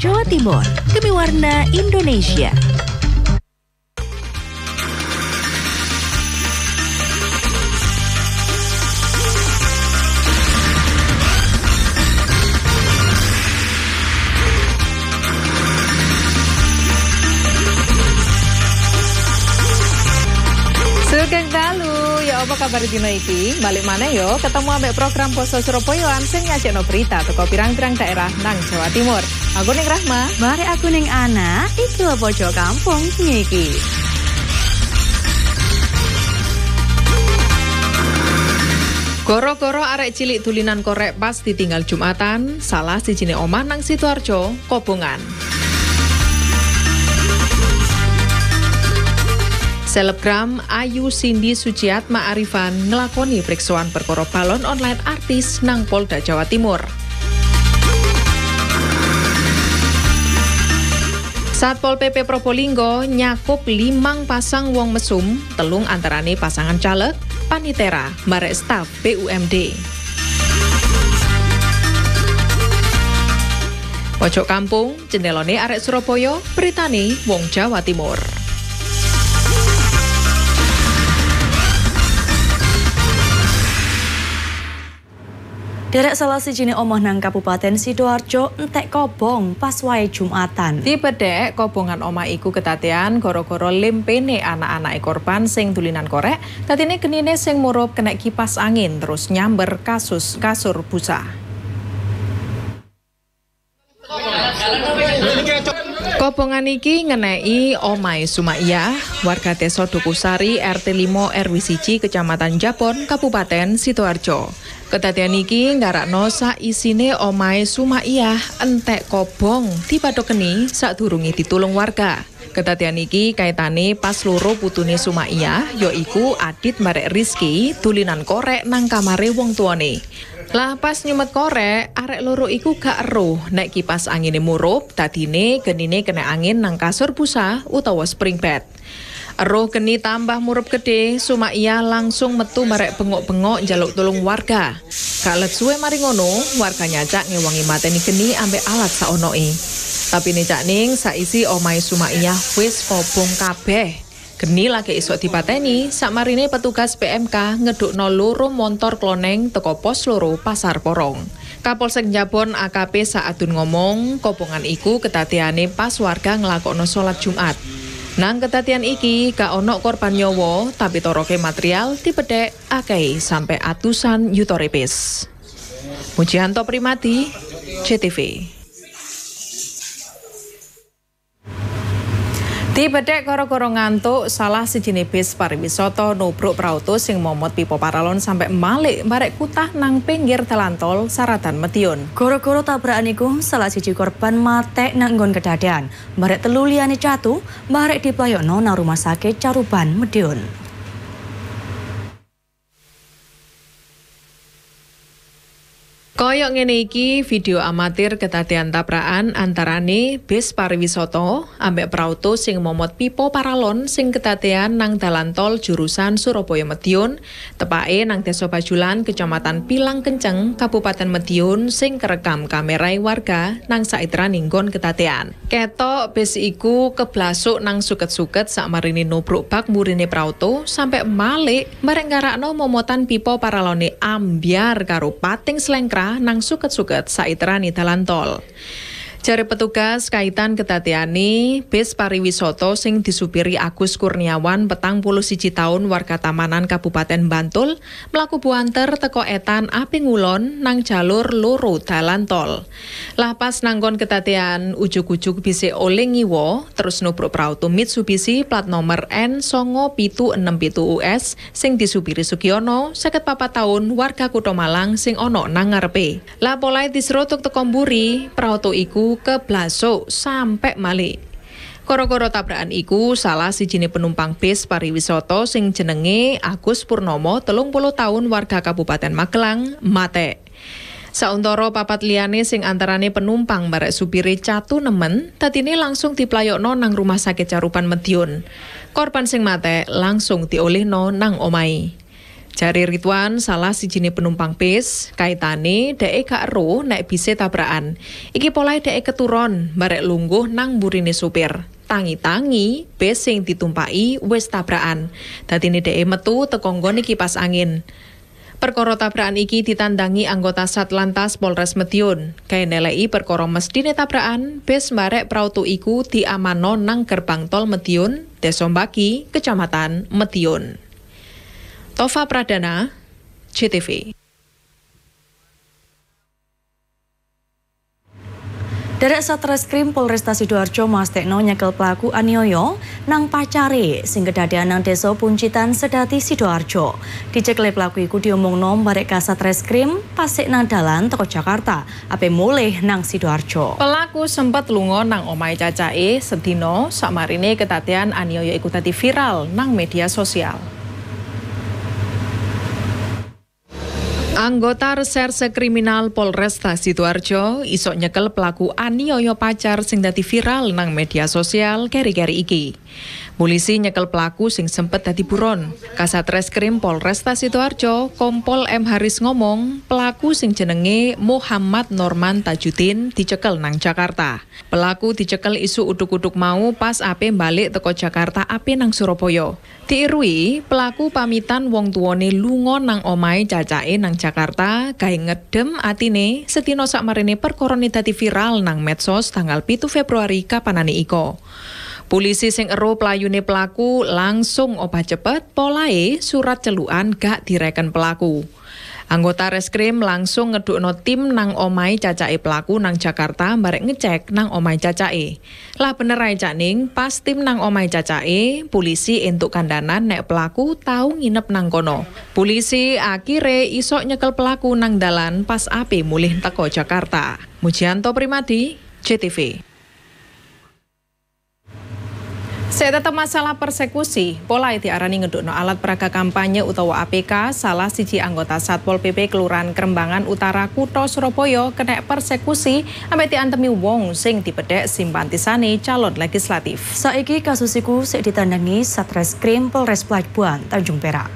Jawa Timur, demi warna Indonesia. Sugeng dalu, ya apa kabar dina iki? Balik mana yo, ketemu ambek program Poso Surabayaan sing nyajekno berita teko pirang-pirang daerah nang Jawa Timur. Aku ning Rahma, bare aku ning Ana, iki lho pojok kampung iki. Goro-goro arek cilik dulinan korek pas ditinggal Jumatan, salah sijine omah nang Sidoarjo, kobongan. Selebgram Ayu Cindy Suciatma Arifan ngelakoni periksoan perkara balon online artis nang Polda Jawa Timur. Satpol PP Probolinggo nyakup 5 pasang wong mesum, 3 antarane pasangan caleg, panitera, barek staf BUMD. Pojok kampung, jendelone arek Surabaya, beritane wong Jawa Timur. Derek salah sijine omah nang Kabupaten Sidoarjo entek kobong pas wae Jumatan. Dipedhek kobongan omah iku kedadean gara-gara lempene anak-anake korban sing dulinan korek, dadine genine sing murup kena kipas angin terus nyamber kasus kasur busa. Kobongan iki ngenei omahe Sumaiyah, warga Desa Dukusari RT 5 RW 1 Kecamatan Jabon, Kabupaten Sidoarjo. Kedadian iki nggarakno saisine omahe Sumaiyah entek kobong dipadhokeni sadurunge ditulung warga. Kedadian iki kaitane pas loro putune Sumaiyah yaiku Adit barek Rizky dulinan korek nang kamare wong tuane. Lah pas nyumet korek, arek loro iku gak eruh nek kipas angine murup, dadine genine kena angin nang kasur busa utawa spring bed. Eruh geni tambah murup gede, Sumaiyah langsung metu barek bengok-bengok njaluk tulung warga. Gak let suwe mari ngono, warga nyacak ngewangi mateni geni ambek alat saonoe. Tapi nek ning saisi omahe Sumaiyah wis kobong kabeh. Geni lagi isok dipateni, sakmarine petugas PMK ngedukno loro montor kloneng teko pos loro Pasar Porong. Kapolsek Jabon AKP Saadun ngomong, kobongan iku kedadeane pas warga nglakokno salat Jumat. Nang kedadian iki gak ono korban nyawa, tapi toroke material dipedhek akeh sampai atusan yuta repis. Mujianto Primadi, JTV. Dibedhek gara-gara ngantuk, salah sijine bis pariwisata nubruk prauto sing momot pipa paralon sampai malik barek kutah nang pinggir dalan tol Saradan Madiun. Gara-gara tabrakan iku salah siji korban matek nang nggon kedadean, barek 3 liyane catu, barek diplayokno nang rumah sakit Caruban Madiun. Koyok ngene iki video amatir kedadean tabrakan antarane bis pariwisata ambek prauto sing momot pipa paralon sing kedadean nang dalan tol jurusan Surabaya Madiun, tepake nang Desa Bajulan, Kecamatan Pilang Kenceng, Kabupaten Madiun sing kerekam kamerai warga nang saiterane nggon kedadean. Ketok bis iku keblasuk nang suket-suket sakmarine nubruk bak mburine prauto sampe malik bareng ngarakno momotan pipa paralone ambyar karo pating slengkrah nang suket-suket saiterane dalan tol. Jare petugas kaitan kedadeane bis pariwisata sing disupiri Agus Kurniawan 41 tahun warga Tamanan Kabupaten Bantul mlaku buanter teko etan api ngulon nang jalur loro dalan tol. Lah pas nanggon kedadean ujug-ujug bise oleh ngiwo terus nubruk prauto Mitsubishi plat nomor N9767 US sing disupiri Sugiono 54 tahun warga Kutha Malang sing ono nang ngarepe. Lah polahe disrotuk teko mburi, prauto iku keblasuk sampai malik. Koro-koro tabrakan iku salah sijine penumpang bis pariwisata sing jenenge Agus Purnomo 30 tahun warga Kabupaten Magelang mate. Sauntara papat liyane sing antarane penumpang barek supire catu nemen, dadine langsung diplayokno nang rumah sakit Caruban Madiun. Korban sing mate langsung diolehno nang omahe. Jare Ridwan salah sijine penumpang bis, kaitane dheke gak ero nek bise tabrakan. Iki polahe dheke keturon barek lungguh nang burine supir. Tangi-tangi bis sing ditumpaki wis tabrakan. Dadine dheke metu teko nggone kipas angin. Perkara tabrakan iki ditandangi anggota Satlantas Polres Madiun. Gawe neleki perkara mesthine tabrakan, bis barek prautu iku diamanno nang gerbang tol Madiun, Desa Mbaki, Kecamatan Madiun. Tova Pradana, JTV. Derek Satreskrim Polresta Sidoarjo mastekno nyekel pelaku aniaya nang pacare sing kedadean nang Desa Puncitan Sedati Sidoarjo. Dicekle pelaku iku diomongno barek Kasatreskrim pasik nang dalan teko Jakarta ape mulih nang Sidoarjo. Pelaku sempet lunga nang omahe cacake sedina sakmarine kedadean aniaya iku dadi viral nang media sosial. Anggota Reserse Kriminal Polresta Sidoarjo isok nyekel pelaku aniaya pacar sing dadi viral nang media sosial keri-keri iki. Polisi nyekel pelaku sing sempet dadi buron. Kasatreskrim Polresta Sidoarjo, Kompol M Haris ngomong, pelaku sing jenenge Muhammad Norman Tajudin dicekel nang Jakarta. Pelaku dicekel isu uduk-uduk mau pas ape balik teko Jakarta ape nang Surabaya. Diirui, pelaku pamitan wong tuane lunga nang omahe cacake nang Jakarta gawe ngedem atine sedina sakmarine perkara dadi viral nang medsos tanggal 7 Februari kapanane iko. Polisi sing ero playune pelaku langsung obah cepet polahe surat celukan gak direken pelaku. Anggota reskrim langsung ngedukno tim nang omahe cacake pelaku nang Jakarta barek ngecek nang omahe cacake. Lah bener ae Cak Ning, pas tim nang omahe cacake, polisi entuk kandanan nek pelaku tau nginep nang kono. Polisi akhire isok nyekel pelaku nang dalan pas ape mulih teko Jakarta. Mujianto Primadi, JTV. Saya tetap masalah persekusi, pola diarani ngedukno alat peraga kampanye utawa APK, salah siji anggota Satpol PP Kelurahan Krembangan Utara Kutha Surabaya kena persekusi ambek diantemi wong sing dipedhek simpatisane calon legislatif. Saiki kasus iku sik ditandangi Satreskrim Polres Pelabuhan Tanjung Perak.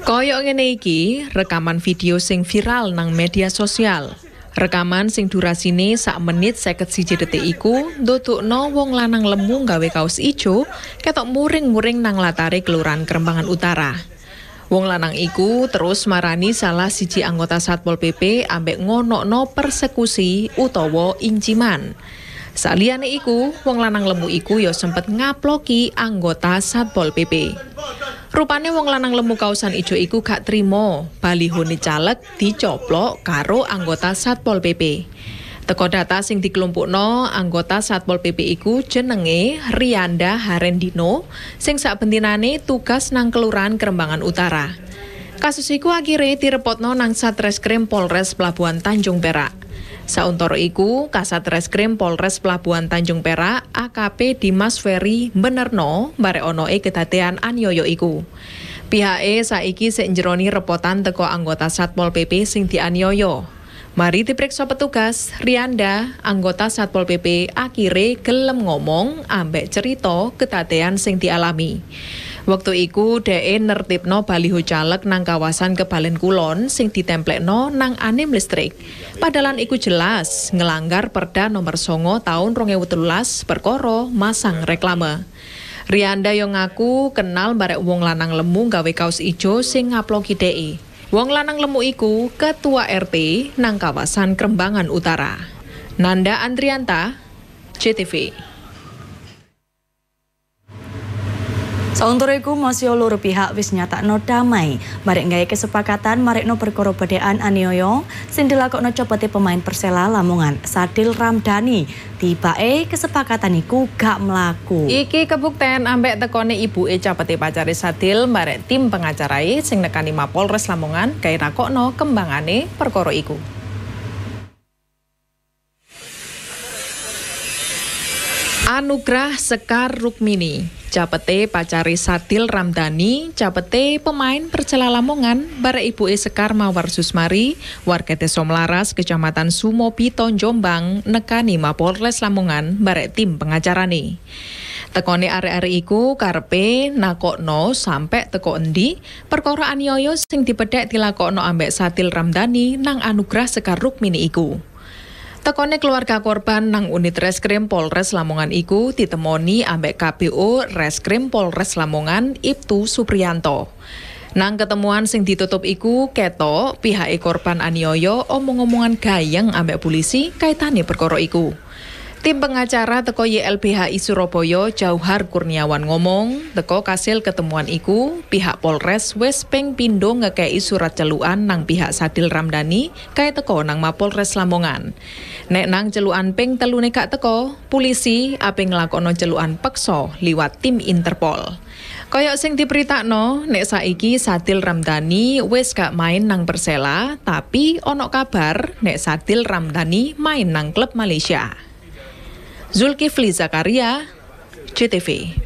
Koyok ngene iki rekaman video sing viral nang media sosial. Rekaman sing durasine sak menit 51 detik iku ndudukno wong lanang lemu gawe kaos ijo ketok muring-muring nang latare Kelurahan Krembangan Utara. Wong lanang iku terus marani salah siji anggota Satpol PP ambek ngonokno persekusi utawa inciman. Saliyane iku, wong lanang lemu iku ya sempet ngaploki anggota Satpol PP. Rupane wong lanang lemu kaosan ijo iku gak trimo, balihone caleg dicoplok karo anggota Satpol PP. Teko data sing dikelompokno anggota Satpol PP iku jenenge Rianda Harendino sing sabentinane tugas nang Kelurahan Krembangan Utara. Kasus iku akhire direpotno nang Satreskrim Polres Pelabuhan Tanjung Perak. Sauntara iku, Kasat Reskrim Polres Pelabuhan Tanjung Perak, AKP Dimas Ferry benerno barek onoe kedadean aniaya iku. Pihake saiki sik njeroni repotan teko anggota Satpol PP sing dianiaya. Mari diperiksa petugas, Rianda, anggota Satpol PP akhire gelem ngomong ambek cerita kedadean sing dialami. Waktu iku dheke nertibno baliho caleg nang kawasan Kebalen Kulon sing ditemplekno nang anim listrik. Padahal iku jelas ngelanggar Perda nomor 9 tahun 2013 perkara masang reklame. Rianda yo ngaku kenal barek wong lanang lemu gawe kaos ijo sing ngaploki dheke. Wong lanang lemu iku ketua RT nang kawasan Krembangan Utara. Nanda Andrianta, JTV. Sauntara iku masih loro pihak wis nyatakno damai barek gawe kesepakatan marekno perkara bedhekan aniaya sing dilakokno copote pemain Persela Lamongan Sadil Ramdhani. Tibake kesepakatan iku gak mlaku. Iki kebukten ambek tekone ibuke copote pacare Sadil barek tim pengacarae sing nekani Mapolres Lamongan gawe nakokno kembangane perkara iku. Anugrah Sekar Rukmini, capete pacare Sadil Ramdhani, capete pemain Persela Lamongan, barek ibuke Sekar Mawar Susmari, warga Desa Mlaras, Kecamatan Sumobito, Jombang, nekani Mapolres Lamongan, barek tim pengacarane. Tekone arek-arek iku karepe nakokno sampe teko endi perkara aniaya sing dipedhek dilakokno ambek Saddil Ramdani nang Anugrah Sekar Rukmini iku. Tekone keluarga korban nang unit Reskrim Polres Lamongan iku ditemoni ambek KPO Reskrim Polres Lamongan Ibtu Supriyanto. Nang ketemuan sing ditutup iku ketok pihake korban aniaya omong-omongan gayeng ambek polisi kaitane perkara iku. Tim pengacara teko YLBHI Surabaya Jauhar Kurniawan ngomong, teko kasil ketemuan iku pihak Polres wis ping pindho ngekeki surat celukan nang pihak Saddil Ramdani kae teko nang Mapolres Lamongan. Nek nang celukan ping telune gak teko, polisi ape nglakokno celukan peksa liwat tim Interpol. Koyok sing diberitakno, nek saiki Saddil Ramdani wis gak main nang Persela, tapi ono kabar nek Saddil Ramdani main nang klub Malaysia. Zulkifli Zakaria, JTV.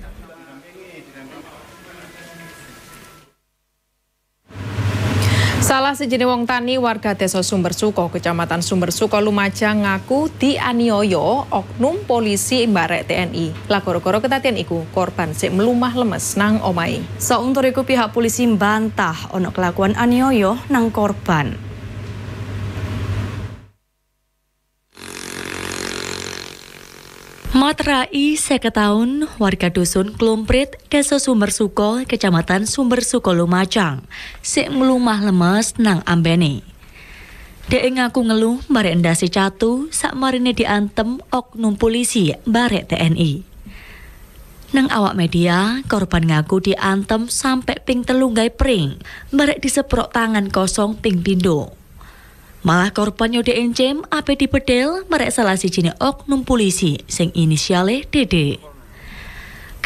Salah sijine wong tani warga Desa Sumbersuko, Kecamatan Sumbersuko, Lumajang ngaku dianiaya oknum polisi mbarek TNI. Lah gara-gara ketaten iku korban sik mlumah lemes nang omahe. Sauntur iku pihak polisi mbantah ono kelakuan aniaya nang korban. Matrai 50 tahun, warga dusun Klumprit, Desa Sumbersuko, Kecamatan Sumbersuko, Lumajang, sik mlumah lemes nang ambene. Dhek ngaku ngeluh barek ndase catu sakmarine diantem oknum polisi barek TNI. Nang awak media, korban ngaku diantem sampai ping 3 gawe pring, barek diseprok tangan kosong ping pindho. Malah korban yo diencem ape dipedel merek salah sijine oknum polisi sing inisiale DD.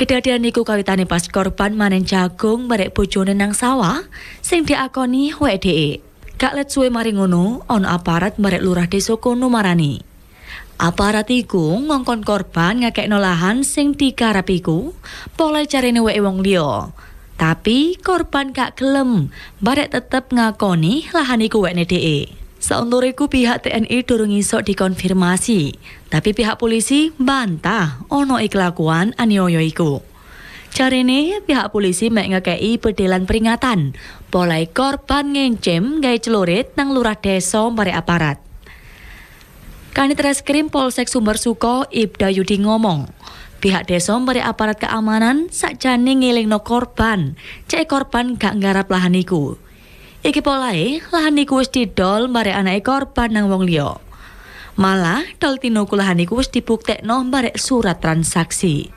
Kedadian niku kawitane pas korban manen jagung merek bojone nang sawah sing diakoni WDE. Gak let suwe mari ngono, ono aparat merek lurah desa kono marani. Aparat iku ngongkon korban ngakekno lahan sing digarap iku, polahe carine weke wong liya. Tapi korban gak gelem, barek tetep ngakoni lahan iku wekne DE. Sauntur iku pihak TNI durung iso dikonfirmasi, tapi pihak polisi bantah ono kelakuan aniaya iku. Jarene pihak polisi mek ngekeki bedelan peringatan, polahe korban ngencem gawe celurit nang lurah desa barek aparat. Kanit Reskrim Polsek Sumbersuko Ibda Yudi ngomong, pihak desa barek aparat keamanan sakjane ngelingno korban, cek korban gak nggarap lahan iku. Iki polahe lahan iku wis didol barek anake korban nang wong liya. Malah dol tinuku lahan iku wis dibuktekno barek surat transaksi.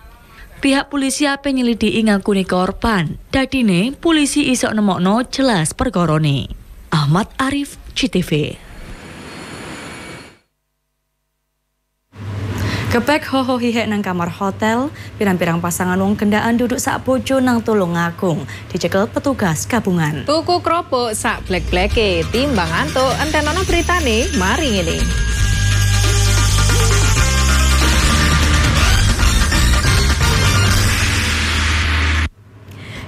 Pihak polisi ape nyelidiki ngakune korban. Dadine polisi iso nemokno jelas perkorone. Ahmad Arif, JTV. Kepek hoho hihek nang kamar hotel, pirang-pirang pasangan wong kendaan duduk sak bojo nang Tulungagung, dicekel petugas gabungan. Tuku kerupuk sak blek-bleke, timbang antuk entenono beritane, mari ngene.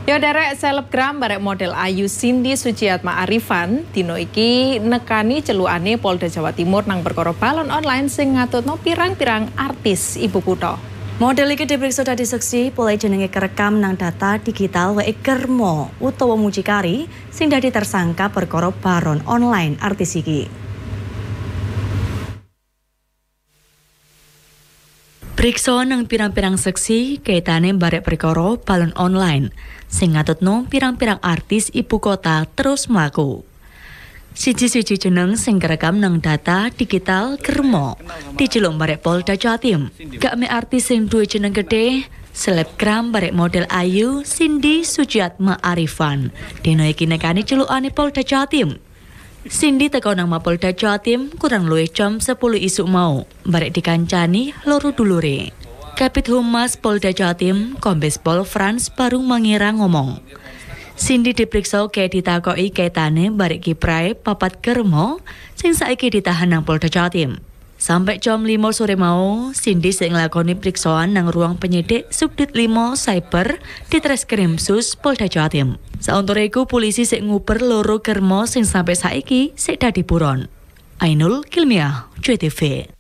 Yo derek selebgram barek model Ayu Cindy Sujiatma Arifan dino iki nekani celukane Polda Jawa Timur nang perkara balon online sing ngatutno pirang-pirang artis ibu kutha. Model iki diperiksa dadi seksi polahe jenenge kerekam nang data digital weke Germo utawa mucikari sing dadi tersangka perkara baron online artis iki. Priksa nang pirang-pirang seksi kaitane barek perkara balon online sing ngatutno pirang-pirang artis ibu kota terus mlaku. Siji-siji jeneng sing kerekam nang data digital Germo diceluk barek Polda Jatim. Gak mek artis sing duwe jeneng gede, selebgram barek model Ayu Cindy Sujiatma Arifan. Dina iki nekani celukane Polda Jatim. Cindy teko nang Mapolda Jatim kurang luwih jam 10 isuk mau, barek dikancani loro dulure. Kabid Humas Polda Jatim, Kombes Pol Frans Barung Mangira ngomong, Cindy diperiksa kayak ditakoki kaitane barek kiprahe papat Germo sing saiki ditahan nang Polda Jatim. Sampai jam 5 sore mau, Cindy sing nglakoni periksoan nang ruang penyidik Subdit 5 Cyber di Treskrimsus Polda Jatim. Sauntara iku polisi sik nguber loro Germo sing sampai saiki sik dadi buron. Ainul Kilmiah, JTV.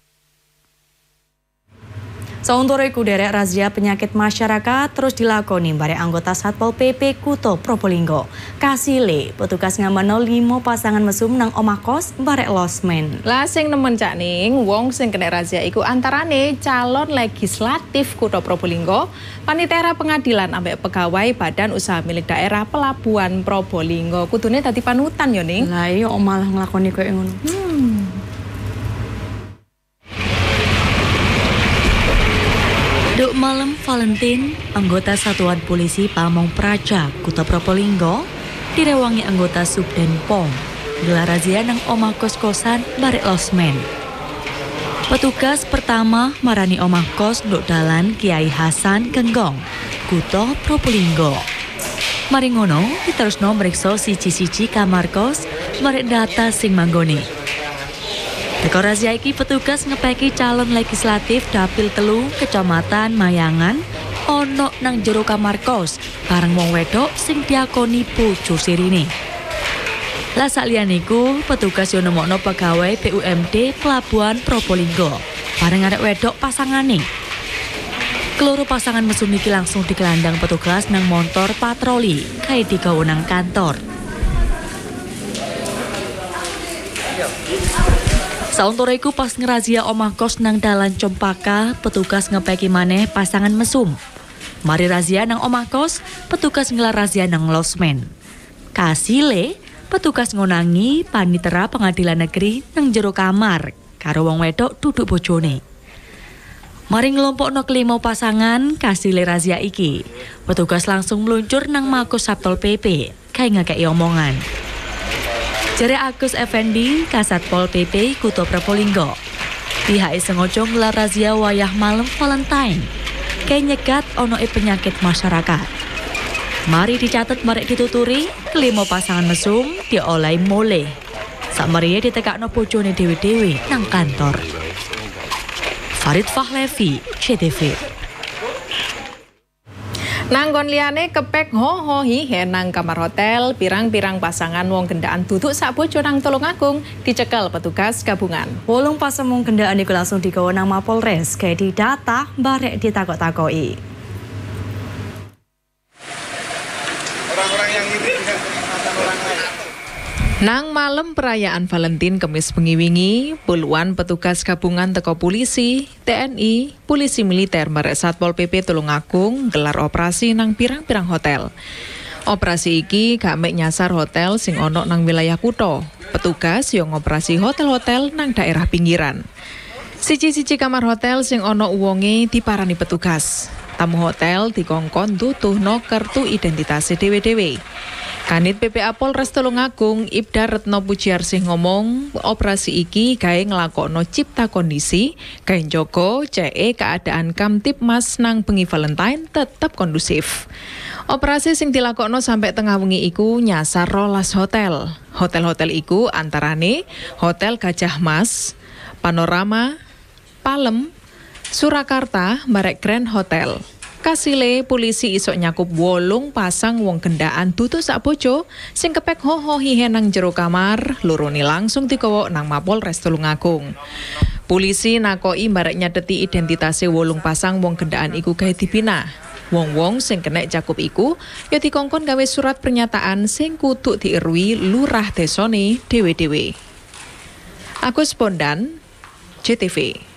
Sauntara iku derek razia penyakit masyarakat terus dilakoni barek anggota Satpol PP Kutha Probolinggo. Kasile petugas ngamanno 5 pasangan mesum nang omah kos barek losmen. Lah sing nemen Cak Ning, wong sing kena razia iku antarane calon legislatif Kutha Probolinggo, panitera pengadilan ambek pegawai Badan Usaha Milik Daerah Pelabuhan Probolinggo. Kudune dadi panutan yo Ning. Lah iya malah nglakoni koyo ngono. Duk malam Valentine, anggota Satuan Polisi Pamong Praja, Kutha Probolinggo, direwangi anggota Subden Pom, gelar razia nang omah kos-kosan barek losmen. Petugas pertama marani omah kos nduk dalan Kiai Hasan Genggong, Kutha Probolinggo. Mari ngono, diterusno mriksa siji-siji kamar kos barek data sing manggone. Teko razia iki petugas ngepeki calon legislatif dapil 3 Kecamatan Mayangan ono nang jero kamar kos bareng wong wedok sing diakoni bojo sirine. Lah sakliyane iku petugas yo nemokno pegawai BUMD Pelabuhan Probolinggo bareng arek wedok pasangane. Keloro pasangan mesum iki langsung dikelandang petugas nang montor patroli kae digawa nang kantor. Sauntara iku pas ngerazia omah kos nang dalan Cempaka, petugas ngepeki maneh pasangan mesum. Mari razia nang omah kos, petugas ngelar razia nang losmen. Kasile, petugas ngonangi panitera pengadilan negeri nang jero kamar karo wong wedok duduk bojone. Mari ngelompokno kelima pasangan kasile razia iki. Petugas langsung meluncur nang Mako Satpol PP, kae ngekeki omongan. Jere Agus Effendi, Kasatpol PP Kutha Probolinggo. Pihake sengaja nggelar razia wayah malam Valentine. Kae nyegat onoe penyakit masyarakat. Mari dicatet marek dituturi, kelima pasangan mesum diolehi mulih. Sakmeriye ditekakno bojone dhewe-dhewe nang kantor. Farid Fahlevi, CTV. Nanggon liyane kepek ho hihe nang kamar hotel, pirang-pirang pasangan wong gendaan duduk sak bojo nang Tulungagung dicekel petugas gabungan. 8 pasang wong gendaan iku langsung digawa nang Mapolres, gawe didata barek ditakok-takoki. Orang-orang yang iri dengan kenikmatan orang lain. Nang malam perayaan Valentine Kemis bengi-wingi, puluhan petugas gabungan teko polisi, TNI, polisi militer barek Satpol PP Tulungagung gelar operasi nang pirang-pirang hotel. Operasi iki gak mek nyasar hotel sing ono nang wilayah kutha. Petugas yo ngoperasi hotel-hotel nang daerah pinggiran. Siji-siji kamar hotel sing ono wonge diparani petugas. Tamu hotel dikongkon duduhno kertu identitas dhewe-dhewe. Kanit PPA Polres Tulungagung Ibda Retno Pujiarsih ngomong, operasi iki gawe nglakokno cipta kondisi, gawe njaga ceke keadaan Kamtibmas nang bengi Valentine tetep kondusif. Operasi sing dilakokno sampai tengah wengi iku nyasar 12 hotel. Hotel-hotel iku antarane Hotel Gajah Mas, Panorama, Palem, Surakarta, barek Grand Hotel. Kasile polisi isok nyakup 8 pasang wong gendaan dudu sak bojo sing kepek ho hihe nang jero kamar, lorone langsung digawa nang Mapolres Tulungagung. Polisi nakoki barek nyateti identitase 8 pasang wong gendaan iku gawe dibina. Wong-wong sing kena cakup iku ya dikongkon gawe surat pernyataan sing kudu diirui lurah desone dhewe-dhewe. Agus Bondan, JTV.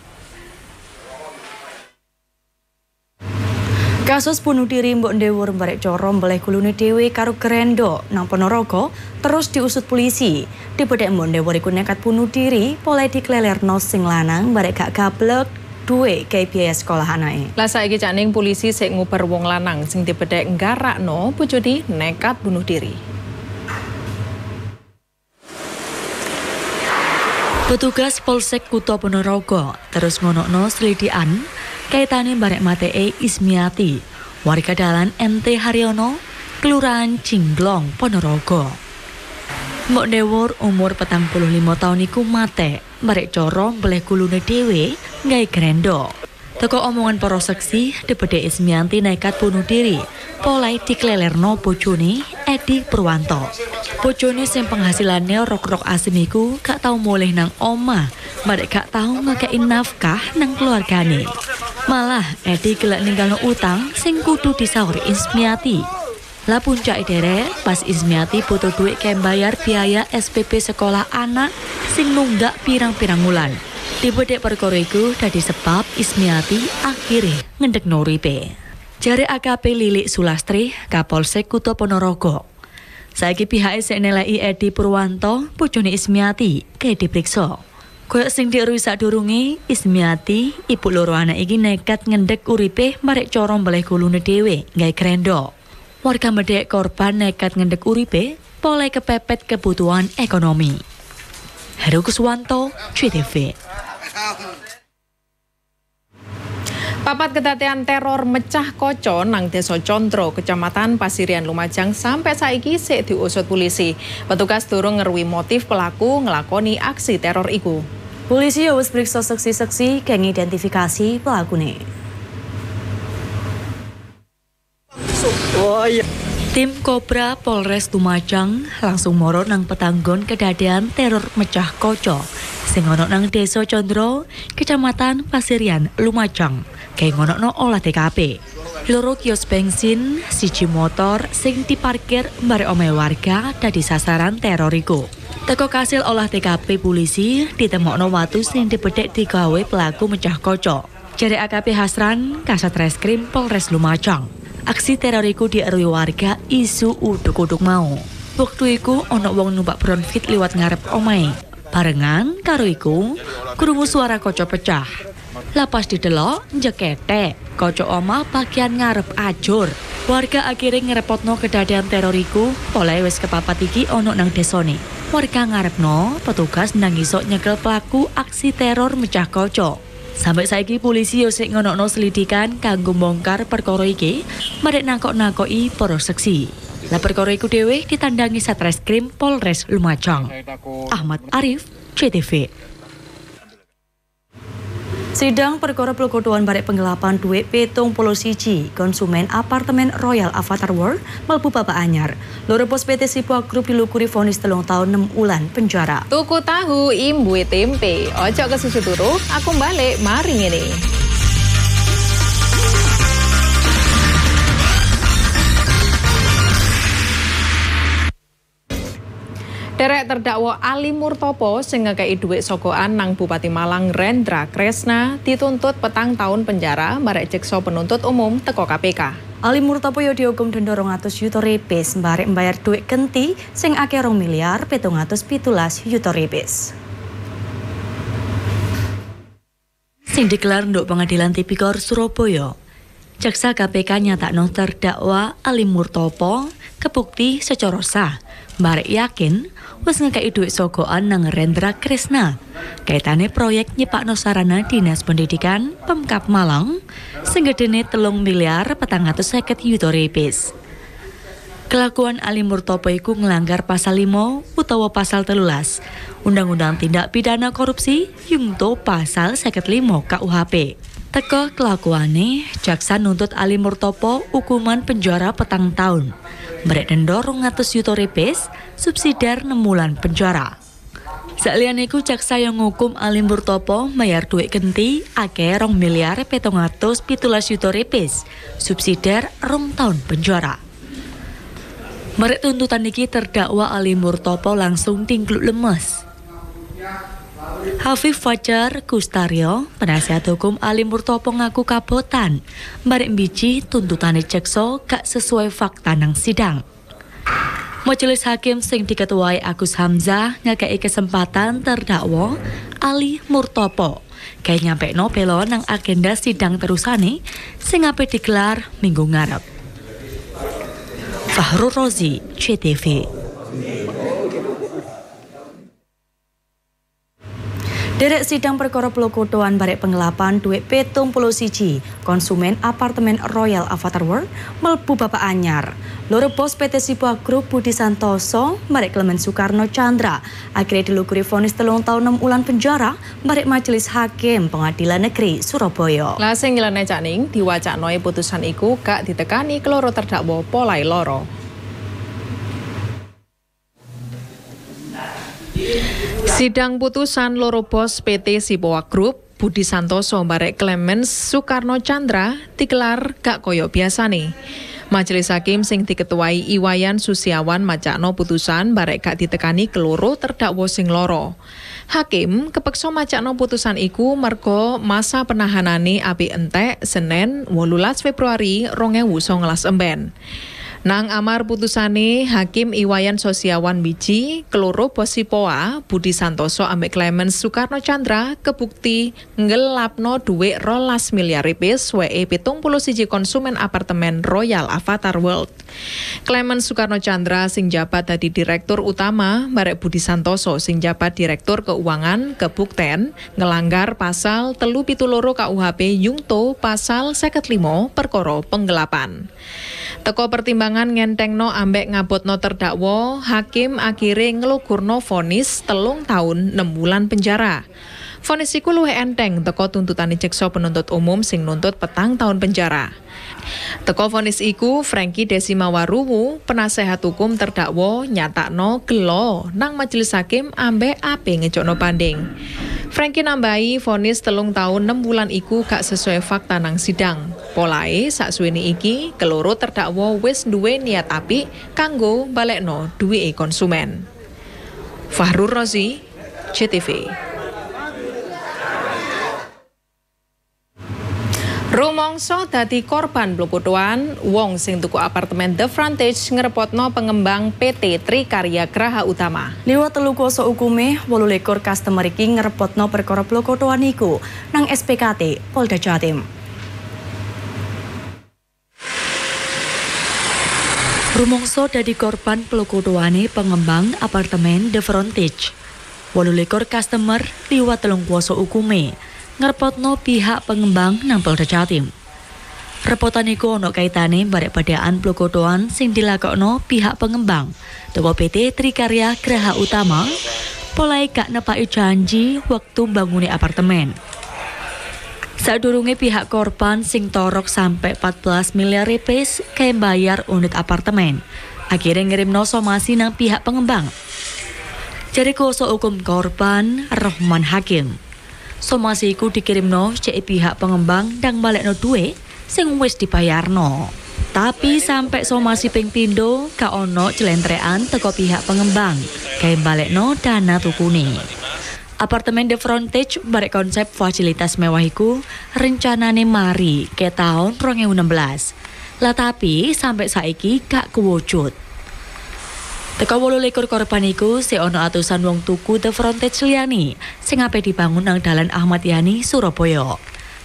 Kasus bunuh diri mbok ndewur barek coro mbeleh gulune dhewe karo grendo nang Ponorogo terus diusut polisi. Dibedhek mbok ndewur iku nekat bunuh diri oleh diklelerno sing lanang barek gak gablek duwe gawe biaya sekolah anake. Lah saiki Cak Ning polisi sik nguber wong lanang sing dibedhek nggarakno bojone nekat bunuh diri. Petugas Polsek Kutha Ponorogo terus ngonokno selidikan kaitane barek matee Ismiati, warga dalan MT Haryono, Kelurahan Cingglong, Ponorogo. Mbok Dewur umur 45 tahun iku mate barek coro mbeleh gulune dhewe gawe grendo. Teko omongan para seksi, debede Ismianti nekat bunuh diri, polai diklelerno bojone Edi Purwanto. Bojone sing penghasilannya rok-rok asim iku gak tau mulih nang omah, barek gak tau ngekei nafkah nang keluargane. Malah Edi gelek ninggalno utang sing kudu disaur Ismiati. Lah puncake derek pas Ismiati butuh duit kayak bayar biaya SPP sekolah anak sing nunggak pirang-pirang wulan. Dibedek perkara iku dadi sebab Ismiati akhire ngendekno uripe. Jare AKP Lilik Sulastri, Kapolsek Kutha Ponorogo. Saiki pihake sik neleki Edi Purwanto, bojone Ismiati, kae dipriksa. Koyok sing diruwi sadurunge, Ismiati, ibu loro anak iki nekat ngendek uripe marek cara mbeleh gulune dhewe gawe krendo. Warga medhek korban nekat ngendek uripe polahe kepepet kebutuhan ekonomi. Heru Kuswanto, CTV. Papat kedatean teror mecah koco nang Desa Condro, Kecamatan Pasirian Lumajang sampai saiki sik diusut polisi. Petugas durung ngeruwi motif pelaku ngelakoni aksi teror iku. Polisi wis periksa seksi-seksi kang identifikasi pelakune. Oh iya. Tim Kobra Polres Lumajang langsung moro nang petanggon kedadean teror mecah koco sing ono nang Desa Condro, Kecamatan Pasirian, Lumajang. Kayak ngonokno olah TKP. Loro kios bensin, siji motor sing diparkir barek omahe warga dadi sasaran teror iku. Teko kasil olah TKP polisi ditemokno watu sing dibedhek digawe pelaku mecah koco. Jare AKP Hasran, Kasat Reskrim Polres Lumajang. Aksi teror iku dieruhi warga isu uduk-uduk mau. Wektu iku ana wong numpak bronfit liwat ngarep omahe. Barengan karo iku krungu suara kaca pecah. Lah pas didelok njeketek, kaca omah bagian ngarep ajur. Warga akhirnya ngerepotno kedadean teror iku, polahe wis kepapat iki ana nang desone. Warga ngarepno petugas nang iso nyekel pelaku aksi teror mecah kaca. Sampai saiki polisi yo sik ngonokno selidikan kanggo bongkar perkara iki, marek nangkok-nangkoki para seksi. Lah perkara iku dhewe ditandangi Satreskrim Polres Lumajang. Ahmad Arif, CTV. Sidang perkara pelokodoan barek penggelapan duit 71 konsumen apartemen Royal Avatar World mlebu babak anyar. Loro bos PT Sipua Group dilukuri vonis 3 tahun 6 bulan penjara. Tuku tahu imbuhe tempe. Ojo kesusu turu, aku balik mari ngene. Derek terdakwa Ali Murtopo sing ngekeki dhuwit sogokan nang Bupati Malang Rendra Kresna dituntut 4 tahun penjara barek jaksa penuntut umum teko KPK. Ali Murtopo yo dihukum denda 200 yuta repes barek mbayar dhuwit genti sing akeh 2.717 yuta repes. Sing digelar nduk Pengadilan Tipikor Surabaya. Jaksa KPK nyatakno terdakwa Ali Murtopo kebukti secara sah. Barek yakin wis ngekeki dhuwit sogokan nang Rendra Kresna. Kaitane proyek nyipakno sarana Dinas Pendidikan Pemkab Malang sing gedene 3.450 yuta repes. Kelakuan Ali Murtopo iku nglanggar pasal 5 utawa pasal 13 Undang-Undang Tindak Pidana Korupsi yungto pasal 55 KUHP. Teko kelakuane, jaksa nuntut Ali Murtopo hukuman penjara 4 tahun. Merek denda 200 yuta repes, subsidiar 6 bulan penjara. Saliyane iku jaksa yang ngukum Ali Murtopo bayar duit genti akeh 2.717 yuta repes, subsidiar 2 tahun penjara. Merek tuntutan iki terdakwa Ali Murtopo langsung tingkluk lemes. Hafif Fajar Kustario, penasihat hukum Ali Murtopo ngaku kabotan, barek mbiji tuntutane jaksa gak sesuai fakta nang sidang. Majelis hakim sing diketuai Agus Hamzah ngekei kesempatan terdakwa Ali Murtopo kayak nyampe no belo nang agenda sidang terusane sing ape digelar minggu ngarep. Fahrul Rozi, CTV. Derek sidang perkara pelokodoan barek penggelapan duit 71 konsumen apartemen Royal Avatar World mlebu babak anyar. Loro bos PT Sipua Group Budi Santoso barek Clement Soekarno Chandra akhirnya dilukuri vonis 3 tahun 6 bulan penjara barek Majelis Hakim Pengadilan Negeri Surabaya. Lah sing ngelene Cak Ning diwacaknoe putusan iku gak ditekani keloro terdakwa polai loro. Sidang putusan loro bos PT Sipua Group Budi Santoso barek Clemens Soekarno Chandra dikelar gak koyo biasane. Majelis hakim sing diketuai Iwayan Susiawan macakno putusan barek gak ditekani keloro terdakwa sing loro. Hakim kepeksa macakno putusan iku mergo masa penahanane api entek Senin 18 Februari 2019 emben. Nang amar putusane Hakim Iwayan Sosiawan Wiji keloro bos Sipoa Budi Santoso ambek Clemens Soekarno Chandra kebukti ngelapno dhuwit 12 miliar rupiah weke 71 konsumen apartemen Royal Avatar World. Clemens Soekarno Chandra sing jabat dadi direktur utama barek Budi Santoso sing jabat direktur keuangan kebukten ngelanggar pasal 372 KUHP yungto pasal 55 perkara penggelapan. Teko pertimbangan ngentengno ambek ngabotno terdakwa, hakim akhire nglugurno vonis 3 tahun 6 bulan penjara. Vonis iku luwih enteng teko tuntutane jaksa penuntut umum sing nuntut 4 tahun penjara. Teko vonis iku Franky Desimawaruwu, penasehat hukum terdakwa nyatakno gelo nang majelis hakim ambek ape ngejokno banding. Franky nambahi vonis 3 tahun 6 bulan iku gak sesuai fakta nang sidang. Polae saksuwene iki keloro terdakwa wis duwe niat apik kanggo balekno duwike konsumen. Fahrur Rozi, JTV. Rumangsa dadi korban blokotoan, wong sing tuku apartemen The Frontage ngrepotno pengembang PT Trikarya Graha Utama. Liwat 3 kuasa hukume, 28 customer iki ngrepotno perkara blokotoan iku nang SPKT Polda Jatim. Rumangsa dadi korban blokotoane pengembang apartemen The Frontage. 28 customer liwat 3 kuasa hukume ngrepotno pihak pengembang nang Polda Jatim. Repotan iku ono kaitane barek padaan blokotoan sing dilakokno pihak pengembang teko PT Trikarya Graha Utama, polae gak nepaki janji wektu mbangune apartemen. Sadurunge pihak korban sing torok sampai 14 miliar rupiah kae bayar unit apartemen. Akhirnya ngirimno somasi nang pihak pengembang. Jare kuasa hukum korban Rohman Hakim. Somasi iku dikirimno cek pihak pengembang dan balekno duwe sing wis dibayarno. Tapi sampai somasi ping pindho gak ono celentrean teko pihak pengembang gawe balekno dana tukune. Apartemen The Frontage barek konsep fasilitas mewah iku rencanane mari ke tahun 2016. Lah tapi sampai saiki gak kewujud. Teko 28 korban iku si ono atusan wong tuku The Frontage liyane sing ape dibangun nang dalan Ahmad Yani, Surabaya.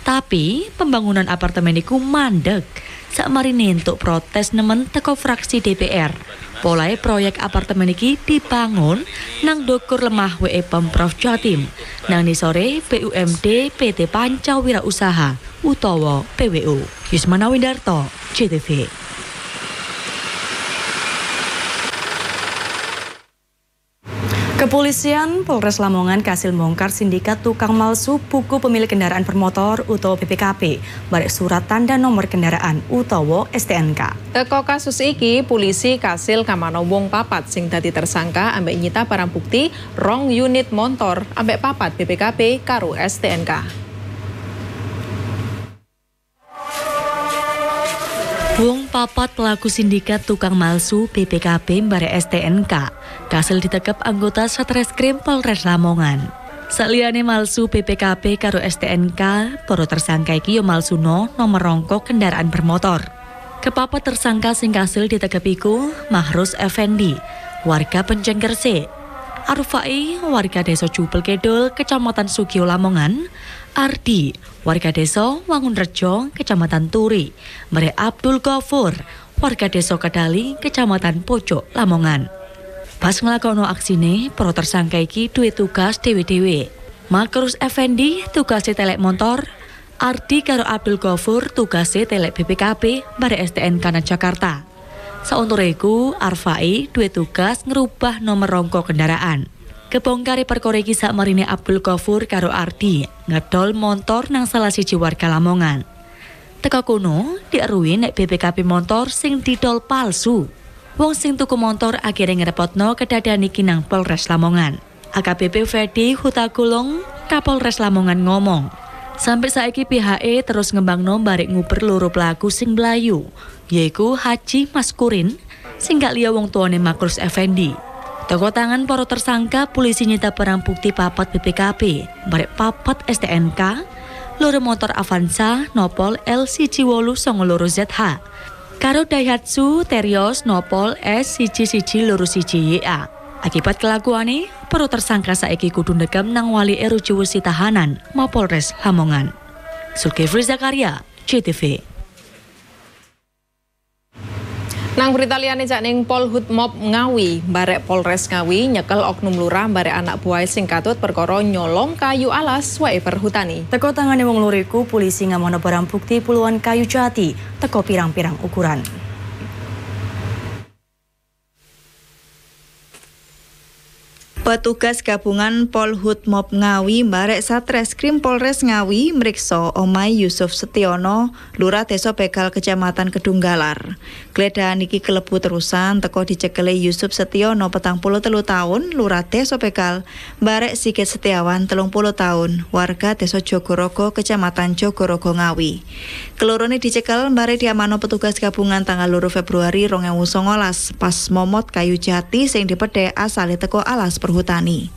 Tapi pembangunan apartemen iku mandek sakmarine entuk protes nemen teko fraksi DPR. Polae proyek apartemen iki dibangun nang ndukur lemah WE Pemprov Jatim, nang nisore BUMD PT Panca Wirausaha utawa PWU. Yusmana Windarto, JTV. Kepolisian Polres Lamongan kasil bongkar sindikat tukang malsu buku pemilik kendaraan bermotor utawa BPKB barek surat tanda nomor kendaraan utawa STNK. Teko kasus iki polisi kasil kamano wong 4 sing dadi tersangka ambek nyita barang bukti 2 unit motor ambek 4 BPKB karo STNK. Wong 4 pelaku sindikat tukang malsu BPKB barek STNK kasil ditekep anggota Satreskrim Polres Lamongan. Saliyane malsu BPKB karo STNK, para tersangka iki yo malsuno nomor rongko kendaraan bermotor. Kepapat tersangka sing kasil ditekep iku Mahrus Effendi, warga Penceng Gresik, Arfai, warga Desa Jupel Kidul, Kecamatan Sugio Lamongan, Ardi, warga Desa Wangunrejo, Kecamatan Turi, Mere Abdul Ghafur, warga Desa Kedali, Kecamatan Pojok Lamongan. Pas nglakokno aksine, para tersangka iki duwe tugas dhewe-dhewe. Makrus Effendi tugase telek motor, Ardi karo Abdul Ghafur tugase telek BPKB bare STNK nang Jakarta. Sauntara iku, Arfai duwe tugas ngerubah nomor rongko kendaraan. Kebongkare perkara iki sakmarine Abdul Ghafur karo Ardi ngedol montor nang salah siji warga Lamongan. Teka kono dieruhi nek BPKB montor sing didol palsu. Wong sing tuku montor akhirnya ngerepotno kedadean iki nang Polres Lamongan. AKBP Ferdi Hutagulung, Kapolres Lamongan ngomong, Sampai saiki pihake terus ngembangno barek nguber loro pelaku sing mlayu, yaiku Haji Maskurin sing gak liya wong tuane Makrus Effendi. Teko tangan para tersangka, polisi nyita barang bukti 4 BPKB, barek 4 STNK, loro motor Avanza nopol L1892ZH, karo Daihatsu Terios nopol S1121 YA. Akibat kelakuane, para tersangka saiki kudu ndekam nang wali Rujuwesi tahanan Mapolres Lamongan. Zulkifli Zakaria, JTV. Nang berita liyane cak ning Polhut Mob Ngawi, barek Polres Ngawi nyekel oknum lurah barek anak buah sing katut perkara nyolong kayu alas wae perhutani. Teko tangane wong loro iku polisi ngamono barang bukti puluhan kayu jati teko pirang-pirang ukuran. Petugas gabungan Polhut Mob Ngawi barek Satreskrim Polres Ngawi mriksa omahe Yusuf Setiono, lurah Desa Begal Kecamatan Kedunggalar. Gledahan iki kelebu terusan teko dicekele Yusuf Setiono 43 tahun, lurah Desa Begal, barek Sigit Setiawan 30 tahun, warga Desa Jogorogo Kecamatan Jogorogo Ngawi. Kelorone dicekel barek diamano petugas gabungan tanggal 2 Februari 2019 pas momot kayu jati sing dipedhek asale teko alas perhutani.